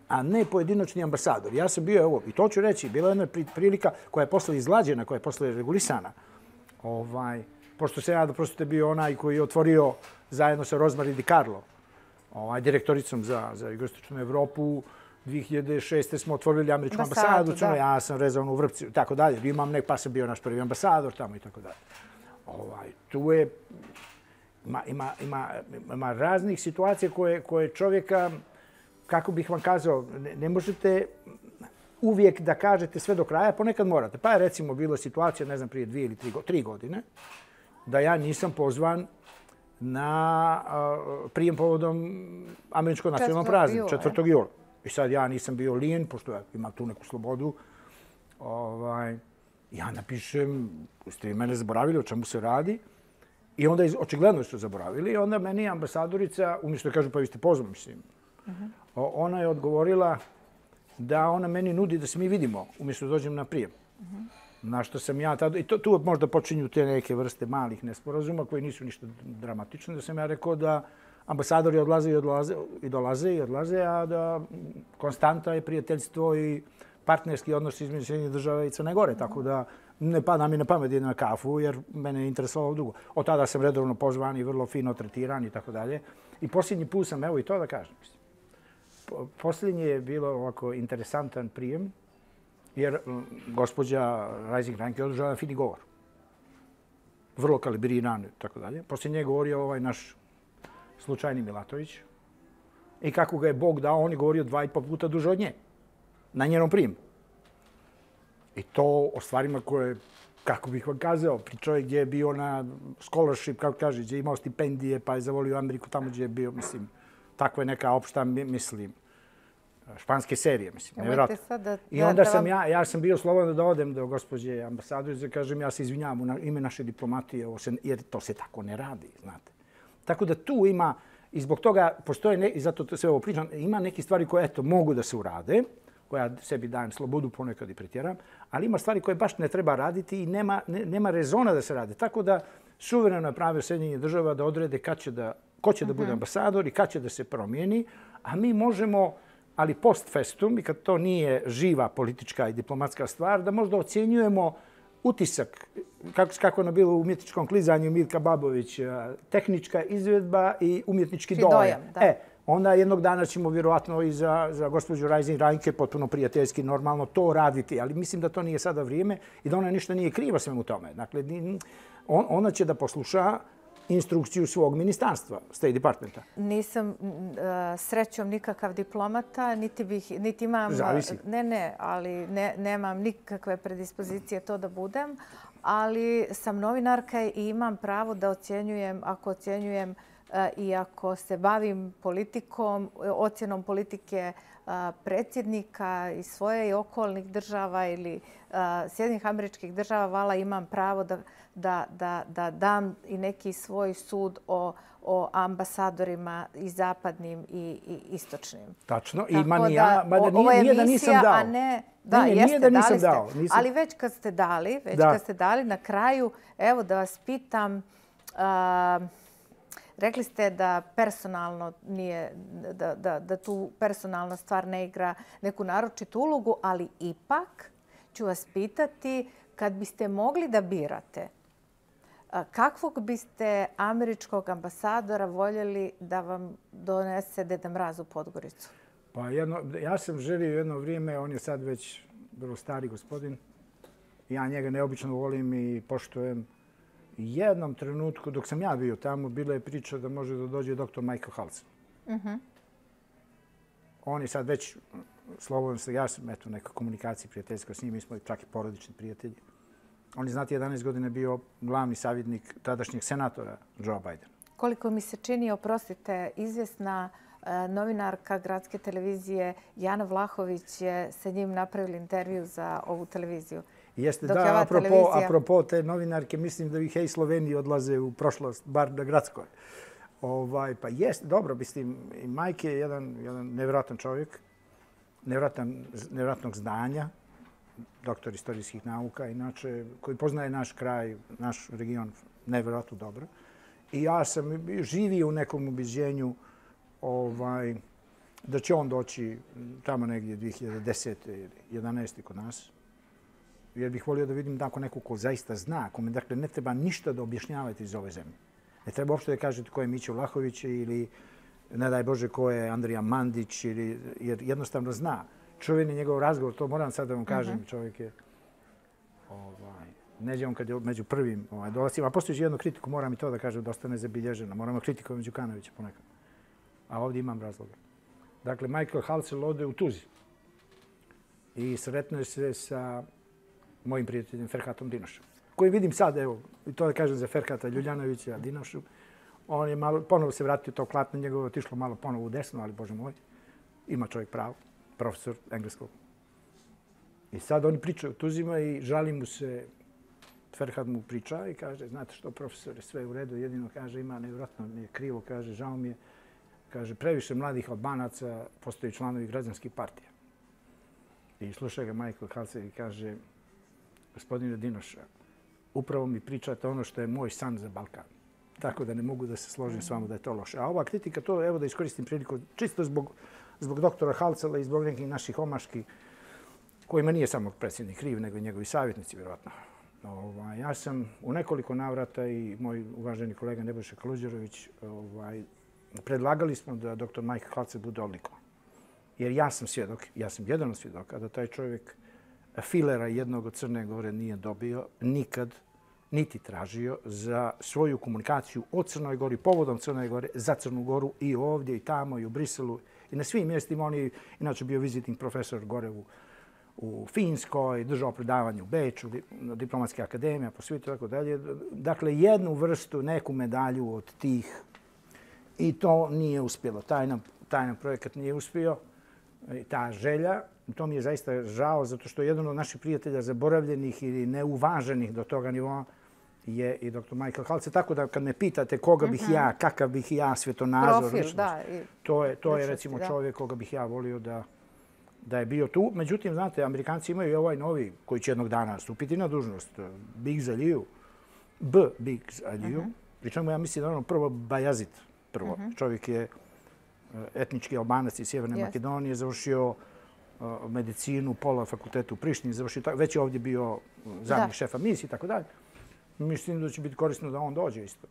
a ne pojedinačni ambasador. Ja sam bio, evo, i to ću reći, bila je jedna prilika koja je posle izglađena, koja je posle regulisana. Pošto se ja da prosto bio onaj koji je otvorio zajedno sa Rosemary DiCarlo ovaj, direktoricom za, za jugoistočnu Evropu. dvije hiljade šeste. smo otvorili američku ambasadu, ambasadu ja sam rezao u Vrpci, tako dalje. Imam nek, pa sam bio naš prvi ambasador tamo i tako dalje. Ovaj, tu je, ima, ima, ima, ima raznih situacija koje, koje čovjeka, kako bih vam kazao, ne, ne možete uvijek da kažete sve do kraja, ponekad morate. Pa je recimo bila situacija, ne znam, prije dvije ili tri, tri godine, da ja nisam pozvan na uh, prijem povodom američkog nacionalnog praznika, četvrtog jula. I sad ja nisam bio lijen, pošto ja imam tu neku slobodu. Ovaj, ja napišem, ste vi mene zaboravili o čemu se radi. I onda očigledno su zaboravili. I onda meni ambasadorica, umjesto da kažu pa vi ste pozvani, mislim, uh-huh. ona je odgovorila da ona meni nudi da se mi vidimo, umjesto da dođem na prijem. Uh-huh. Na što sam ja tada, i to, tu možda počinju te neke vrste malih nesporazuma koji nisu ništa dramatični, da sam ja rekao da ambasadori odlaze i odlaze i dolaze i odlaze, a da konstanta je prijateljstvo i partnerski odnos između Sjedinjenih Država i Crne Gore, tako da ne pada mi na pamet da idem na kafu jer mene je interesovalo drugo. Od tada sam redovno pozvan i vrlo fino tretiran i tako dalje. I posljednji put sam, evo i to da kažem, posljednji je bilo ovako interesantan prijem jer gospođa Rising-Ranke je održala fini govor. Vrlo kalibriran i tako dalje. Poslije nje govorio ovaj naš slučajni Milatović. I kako ga je Bog dao, on je govorio dva i po puta duže od nje. Na njenom prijemu. I to o stvarima koje, kako bih vam kazao, pričao je gdje je bio na scholarship, kako kaže, gdje je imao stipendije, pa je zavolio Ameriku tamo gdje je bio, mislim, takva je neka opšta, mislim, španske serije, mislim, nevjerojatno. I onda sam ja, ja sam bio slobodan da odem do gospođe ambasadorice, kažem, ja se izvinjavam u ime naše diplomatije, jer to se tako ne radi, znate. Tako da tu ima, i zbog toga postoje, ne, i zato sve ovo pričam, ima neke stvari koje, eto, mogu da se urade, koje ja sebi dajem slobodu, ponekad i pretjeram, ali ima stvari koje baš ne treba raditi i nema, ne, nema rezona da se rade. Tako da suvereno je pravo Sjedinjenih Država da odrede kad će da, ko će da bude ambasador i kad će da se promijeni, a mi možemo, ali post festum, i kad to nije živa politička i diplomatska stvar, da možda ocjenjujemo utisak, kako, kako je ono bilo u umjetničkom klizanju Mirka Babović, tehnička izvedba i umjetnički dojam. dojam e, onda jednog dana ćemo vjerovatno i za, za gospođu Rising-Ranke potpuno prijateljski, normalno to raditi, ali mislim da to nije sada vrijeme i da ona ništa nije kriva svemu tome. Dakle, on, ona će da posluša instrukciju svog ministarstva, State Departmenta. Nisam uh, srećom nikakav diplomata, niti, bih, niti imam... Zavisi. Ne, ne, ali ne, nemam nikakve predispozicije to da budem, ali sam novinarka i imam pravo da ocjenjujem, ako ocjenjujem uh, i ako se bavim politikom, ocjenom politike uh, predsjednika i svoje i okolnih država ili uh, Sjedinjenih Američkih Država, vala imam pravo da Da, da, da dam i neki svoj sud o, o ambasadorima i zapadnim i, i istočnim. Tačno. I ma ja, mada nije, nije da nisam dao. A ne, da, ne, ne, jeste, nije da nisam dali dao. Ste, nisam... Ali već kad ste dali, već da. kad ste dali na kraju, evo da vas pitam, uh, rekli ste da personalno nije, da, da, da tu personalna stvar ne igra neku naročitu ulogu, ali ipak ću vas pitati kad biste mogli da birate, kakvog biste američkog ambasadora voljeli da vam donese Deda Mraz u Podgoricu? Pa jedno, ja sam želio jedno vrijeme, on je sad već vrlo stari gospodin. Ja njega neobično volim i poštujem. Jednom trenutku, dok sam ja bio tamo, bila je priča da može da dođe doktor Michael Halsen. Uh-huh. On je sad već slobodan se, ja sam eto, neka komunikacija prijateljska s njim, mi smo čak i porodični prijatelji. On je, znate, jedanaest godina bio glavni savjetnik tadašnjeg senatora Joe Bidena. Koliko mi se čini, oprostite, izvjesna e, novinarka gradske televizije Jana Vlahović je sa njim napravila intervju za ovu televiziju. Jeste, dok da, apropo, televizija... apropo te novinarke, mislim da i hej Sloveniji odlaze u prošlost, bar na gradskoj. Ovaj, pa jest, dobro, mislim, i Mike je jedan, jedan nevjerojatan čovjek, nevjerojatan, nevjerojatnog znanja, doktor istorijskih nauka, inače, koji poznaje naš kraj, naš region nevjerojatno dobro. I ja sam živio u nekom ubeđenju ovaj, da će on doći tamo negdje dvije hiljade desete ili jedanaeste kod nas. Jer bih volio da vidim tako neko ko zaista zna, kome dakle, ne treba ništa da objašnjavate iz ove zemlje. Ne treba uopšte da kažete ko je Mićo Vlahović ili ne daj Bože ko je Andrija Mandić, ili, jer jednostavno zna. Čuveni njegov razgovor, to moram sad da vam kažem, uh-huh. čovjek je, ovaj, neđe on kad je među prvim ovaj, dolazima, a postoji jednu kritiku, moram i to da kažem, dosta nezabilježena, moramo kritikovati Đukanovića ponekad. A ovdje imam razloga. Dakle, Michael Halcel ode u Tuzi i sretnuje se sa mojim prijateljem Ferhatom Dinošom, koji vidim sad, evo, i to da kažem za Ferhata Ljuljanovića, Dinošu, on je malo, ponovo se vratio to klatno njegovo, otišlo malo ponovo u desno, ali Bože moj, ima čovjek pravo, profesor engleskog. I sad oni pričaju o Tuzima i žali mu se, Ferhat mu priča i kaže, znate što, profesore, sve je u redu, jedino kaže, ima nevjerojatno, nije krivo, kaže, žao mi je, kaže, previše mladih Albanaca postaju članovi građanskih partija. I sluša ga Michael Halcel i kaže, gospodine Dinoša, upravo mi pričate ono što je moj san za Balkan. Tako da ne mogu da se složim s vama da je to loše. A ova kritika, to evo da iskoristim priliku, čisto zbog, zbog doktora Halcela i zbog nekih naših omaški, kojima nije samo predsjednik kriv, nego i njegovi savjetnici, vjerovatno. Ovaj, ja sam u nekoliko navrata i moj uvaženi kolega Nebojša Kaluđerović ovaj, predlagali smo da doktor Michael Halcel bude odlikovan. Jer ja sam svjedok, ja sam jedan od svjedoka da taj čovjek filera jednog od Crne Gore nije dobio nikad, niti tražio za svoju komunikaciju o Crnoj Gori, povodom Crne Gore, za Crnu Goru i ovdje i tamo i u Briselu i na svim mjestima. On je inače bio visiting profesor gore u, u Finskoj, držao predavanje u Beču, diplomatske akademije, po svijetu i tako dalje. Dakle, jednu vrstu, neku medalju od tih i to nije uspjelo. Taj nam, taj nam projekat nije uspio. Ta želja, to mi je zaista žao, zato što jedan od naših prijatelja zaboravljenih ili neuvaženih do toga nivoa je i doktor Michael Halcel. Tako da kad me pitate koga bih ja, kakav bih ja svjetonazor, profil, da, i to je, to je recimo čovjek koga bih ja volio da, da je bio tu. Međutim, znate, Amerikanci imaju i ovaj novi koji će jednog dana stupiti na dužnost, Biggs Aliyu, B. Biggs Aliyu, uh-huh. pri čemu ja mislim da ono prvo Bajazit, prvo. Uh-huh. Čovjek je etnički Albanac iz Sjeverne yes. Makedonije, završio uh, medicinu, pola fakultetu u Prištini, završio, već je ovdje bio zamjenik šefa misije i tako dalje. Mislim da će biti korisno da on dođe isto.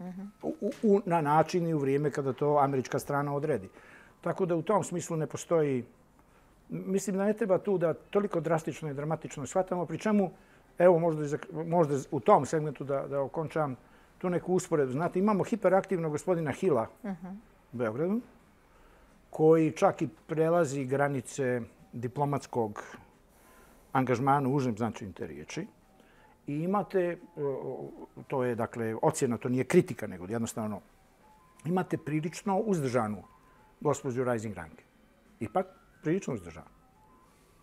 Uh-huh. U, u, na način i u vrijeme kada to američka strana odredi. Tako da u tom smislu ne postoji... Mislim da ne treba tu da toliko drastično i dramatično shvatamo, pri čemu, evo možda, možda u tom segmentu da, da okončam tu neku usporedu. Znate, imamo hiperaktivnog gospodina Hila uh-huh. u Beogradu, koji čak i prelazi granice diplomatskog angažmana u užem značaju te riječi. I imate, to je dakle ocjena, to nije kritika, nego jednostavno, imate prilično uzdržanu gospođu Rising Rank. Ipak prilično uzdržanu.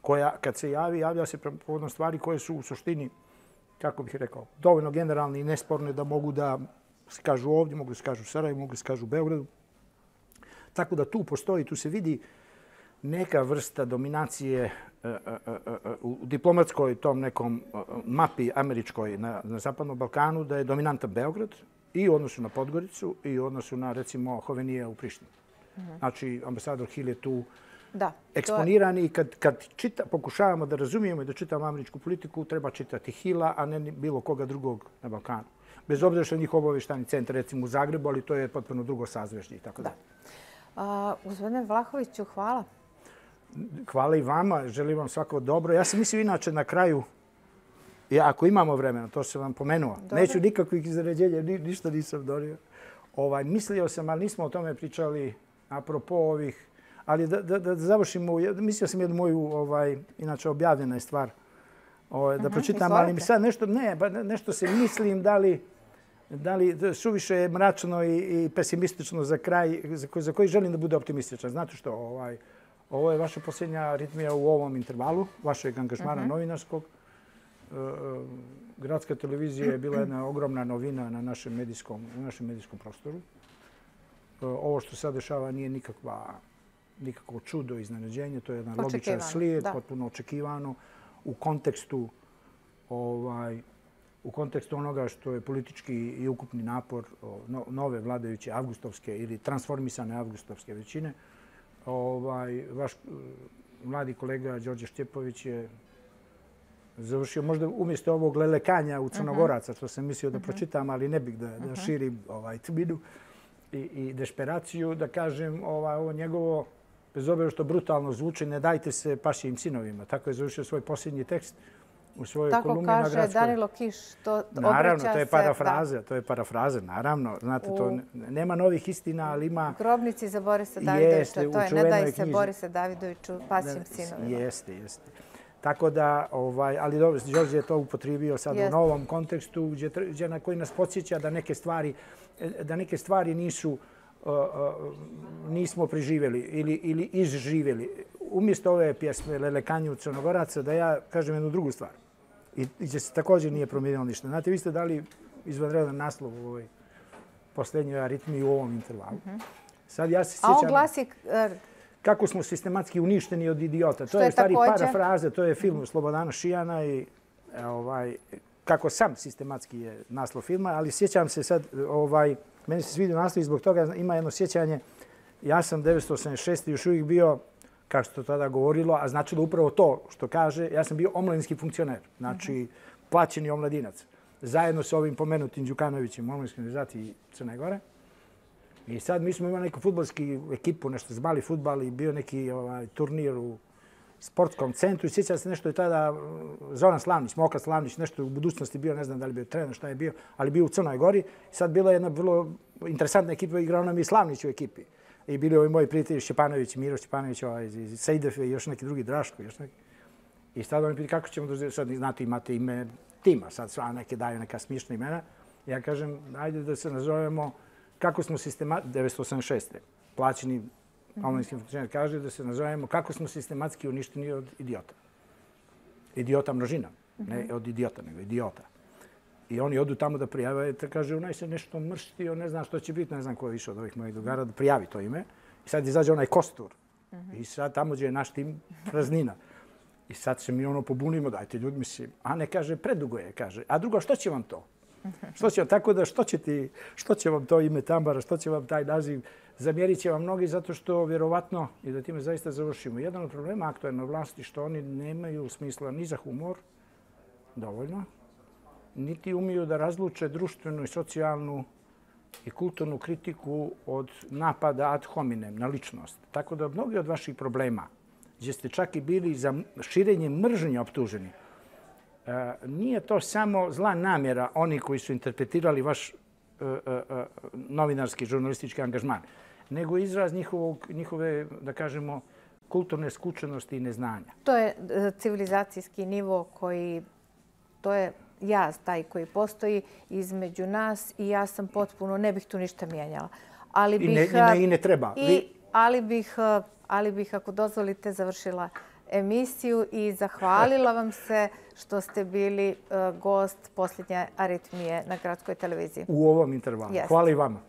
Koja, kad se javi, javlja se povodom stvari koje su u suštini, kako bih rekao, dovoljno generalne i nesporne da mogu da se kažu ovdje, mogu da se kažu u Sarajevu, mogu da se kažu u Beogradu. Tako da tu postoji, tu se vidi neka vrsta dominacije uh, uh, uh, u diplomatskoj tom nekom uh, mapi američkoj na, na Zapadnom Balkanu, da je dominantan Beograd i u odnosu na Podgoricu i u odnosu na, recimo, Hovenije u Prištini. Uh-huh. Znači, ambasador Hill je tu da, eksponiran i kad, kad čita, pokušavamo da razumijemo i da čitamo američku politiku, treba čitati Hilla, a ne bilo koga drugog na Balkanu. Bez obzira što je njih obavještajni centar, recimo u Zagrebu, ali to je potpuno drugo sazveždje i tako da. A, gospodine Vlahoviću, hvala. Hvala i vama, želim vam svako dobro. Ja sam mislio inače na kraju, ja, ako imamo vremena, to sam vam pomenuo, dobro. Neću nikakvih izređenja, ni, ništa nisam donio. Ovaj, mislio sam, ali nismo o tome pričali apropo ovih, ali da, da, da završimo, mislio sam jednu moju, ovaj, inače objavljena je stvar, ovaj, da uh-huh, pročitam, izvolite. Ali mi sad nešto, ne, ba, nešto se mislim da li, da li suviše je mračno i, i pesimistično za kraj, za koji, za koji želim da bude optimističan. Znate što, ovaj, ovo je vaša posljednja ritmija u ovom intervalu, vašeg angažmana uh-huh. novinarskog. E, Gradska televizija je bila jedna ogromna novina na našem medijskom, u našem medijskom prostoru. E, ovo što se dešava nije nikakva, nikakvo čudo, iznenađenje, to je jedan logičan slijed, da. Potpuno očekivano u kontekstu, ovaj, u kontekstu onoga što je politički i ukupni napor no, nove vladajuće avgustovske ili transformisane avgustovske većine. Ovaj, vaš mladi kolega Đorđe Štjepović je završio možda umjesto ovog lelekanja u Crnogoraca, što sam mislio da pročitam, ali ne bih da, da širim ovaj tminu. i desperaciju, da kažem, ovo njegovo, bez obzira što brutalno zvuči, ne dajte se pašijim sinovima. Tako je završio svoj posljednji tekst u svojoj kolumni na Gradskoj. Tako kaže Danilo Kiš, to obraća se... Naravno, to je parafraza, to je parafraza, naravno. Znate, to nema novih istina, ali ima... Grobnici za Borisa Davidovića, to je ne daj se Borisa Davidoviću pašijim sinovima. Jeste, jeste. Tako da, ali dobro, Đorđe je to upotrijebio sad u novom kontekstu, na koji nas podsjeća da neke stvari, da neke stvari nisu, nismo preživjeli ili izživjeli. Umjesto ove pjesme Lelekanju Crnogoraca, da ja kažem jednu drugu stvar. I gdje se također nije promijenilo ništa. Znate, vi ste dali izvanredan naslov u ovoj posljednjoj aritmiji u ovom intervalu. Sad ja se sjećam... A on glasi... Kako smo sistematski uništeni od idiota. To je stvari parafraze, to je film Slobodana Šijana i kako sam sistematski je naslov filma, ali sjećam se sad, meni se svidio naslov i zbog toga ima jedno sjećanje. Ja sam devetsto osamdeset šeste još uvijek bio, kako se to tada govorilo, a značilo upravo to što kaže, ja sam bio omladinski funkcioner, znači plaćeni omladinac, zajedno sa ovim pomenutim Đukanovićem u omladinskoj organizaciji Crne Gore. I sad mi smo imali neku fudbalsku ekipu, nešto zvali fudbal i bio neki turnir u sportskom centru. I sjećam se nešto je tada Zoran Slavnić, Moka Slavnić, nešto u budućnosti bio, ne znam da li bio trener, šta je bio, ali bio u Crnoj Gori. I sad bila jedna vrlo interesantna ekipa, igrao nam i Slavnić u ekipi. I bili ovi moji prijatelji Šćepanović, Miro Šćepanović, iz Sejdefe i još neki drugi, Draško. I sad oni piti kako ćemo da, sad znate imate ime tima, sad sva neke daju neka smiješna imena. Ja kažem, ajde da se nazovemo kako smo sistematski, devetsto osamdeset šeste plaćeni omladinskim funkcioner, kaže da se nazovemo kako smo sistematski uništeni od idiota. Idiota množina, ne od idiota, nego idiota. I oni odu tamo da prijave, te kaže, onaj se nešto mrštio, ne znam što će biti, ne znam ko je više od ovih mojih drugara, da prijavi to ime. I sad izađe onaj kostur. I sad tamo gdje je naš tim praznina. I sad se mi ono pobunimo, dajte ljudi, mislim, a ne kaže, predugo je, kaže. A drugo, što će vam to? Što će vam, tako da što će, ti, što će vam to ime Tambara, što će vam taj naziv? Zamjerit će vam mnogi zato što vjerovatno, i da time zaista završimo, jedan od problema aktualne vlasti što oni nemaju smisla ni za humor, dovoljno, niti umiju da razluče društvenu i socijalnu i kulturnu kritiku od napada ad hominem na ličnost. Tako da mnogi od vaših problema, gdje ste čak i bili za širenje mržnje optuženi, nije to samo zla namjera oni koji su interpretirali vaš novinarski, žurnalistički angažman, nego izraz njihove, da kažemo, kulturne skučenosti i neznanja. To je civilizacijski nivo koji, to je jaz taj koji postoji između nas i ja sam potpuno, ne bih tu ništa mijenjala. I ne treba. Ali bih, ako dozvolite, završila emisiju i zahvalila vam se što ste bili gost posljednje aritmije na Gradskoj televiziji. U ovom intervalu. Hvala i vama.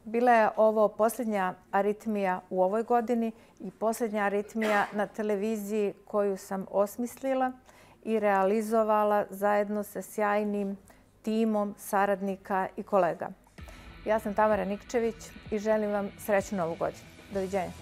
Bila je ovo posljednja aritmija u ovoj godini i posljednja aritmija na televiziji koju sam osmislila i realizovala zajedno sa sjajnim timom saradnika i kolega. Ja sam Tamara Nikčević i želim vam srećnu novu godinu. Doviđenja.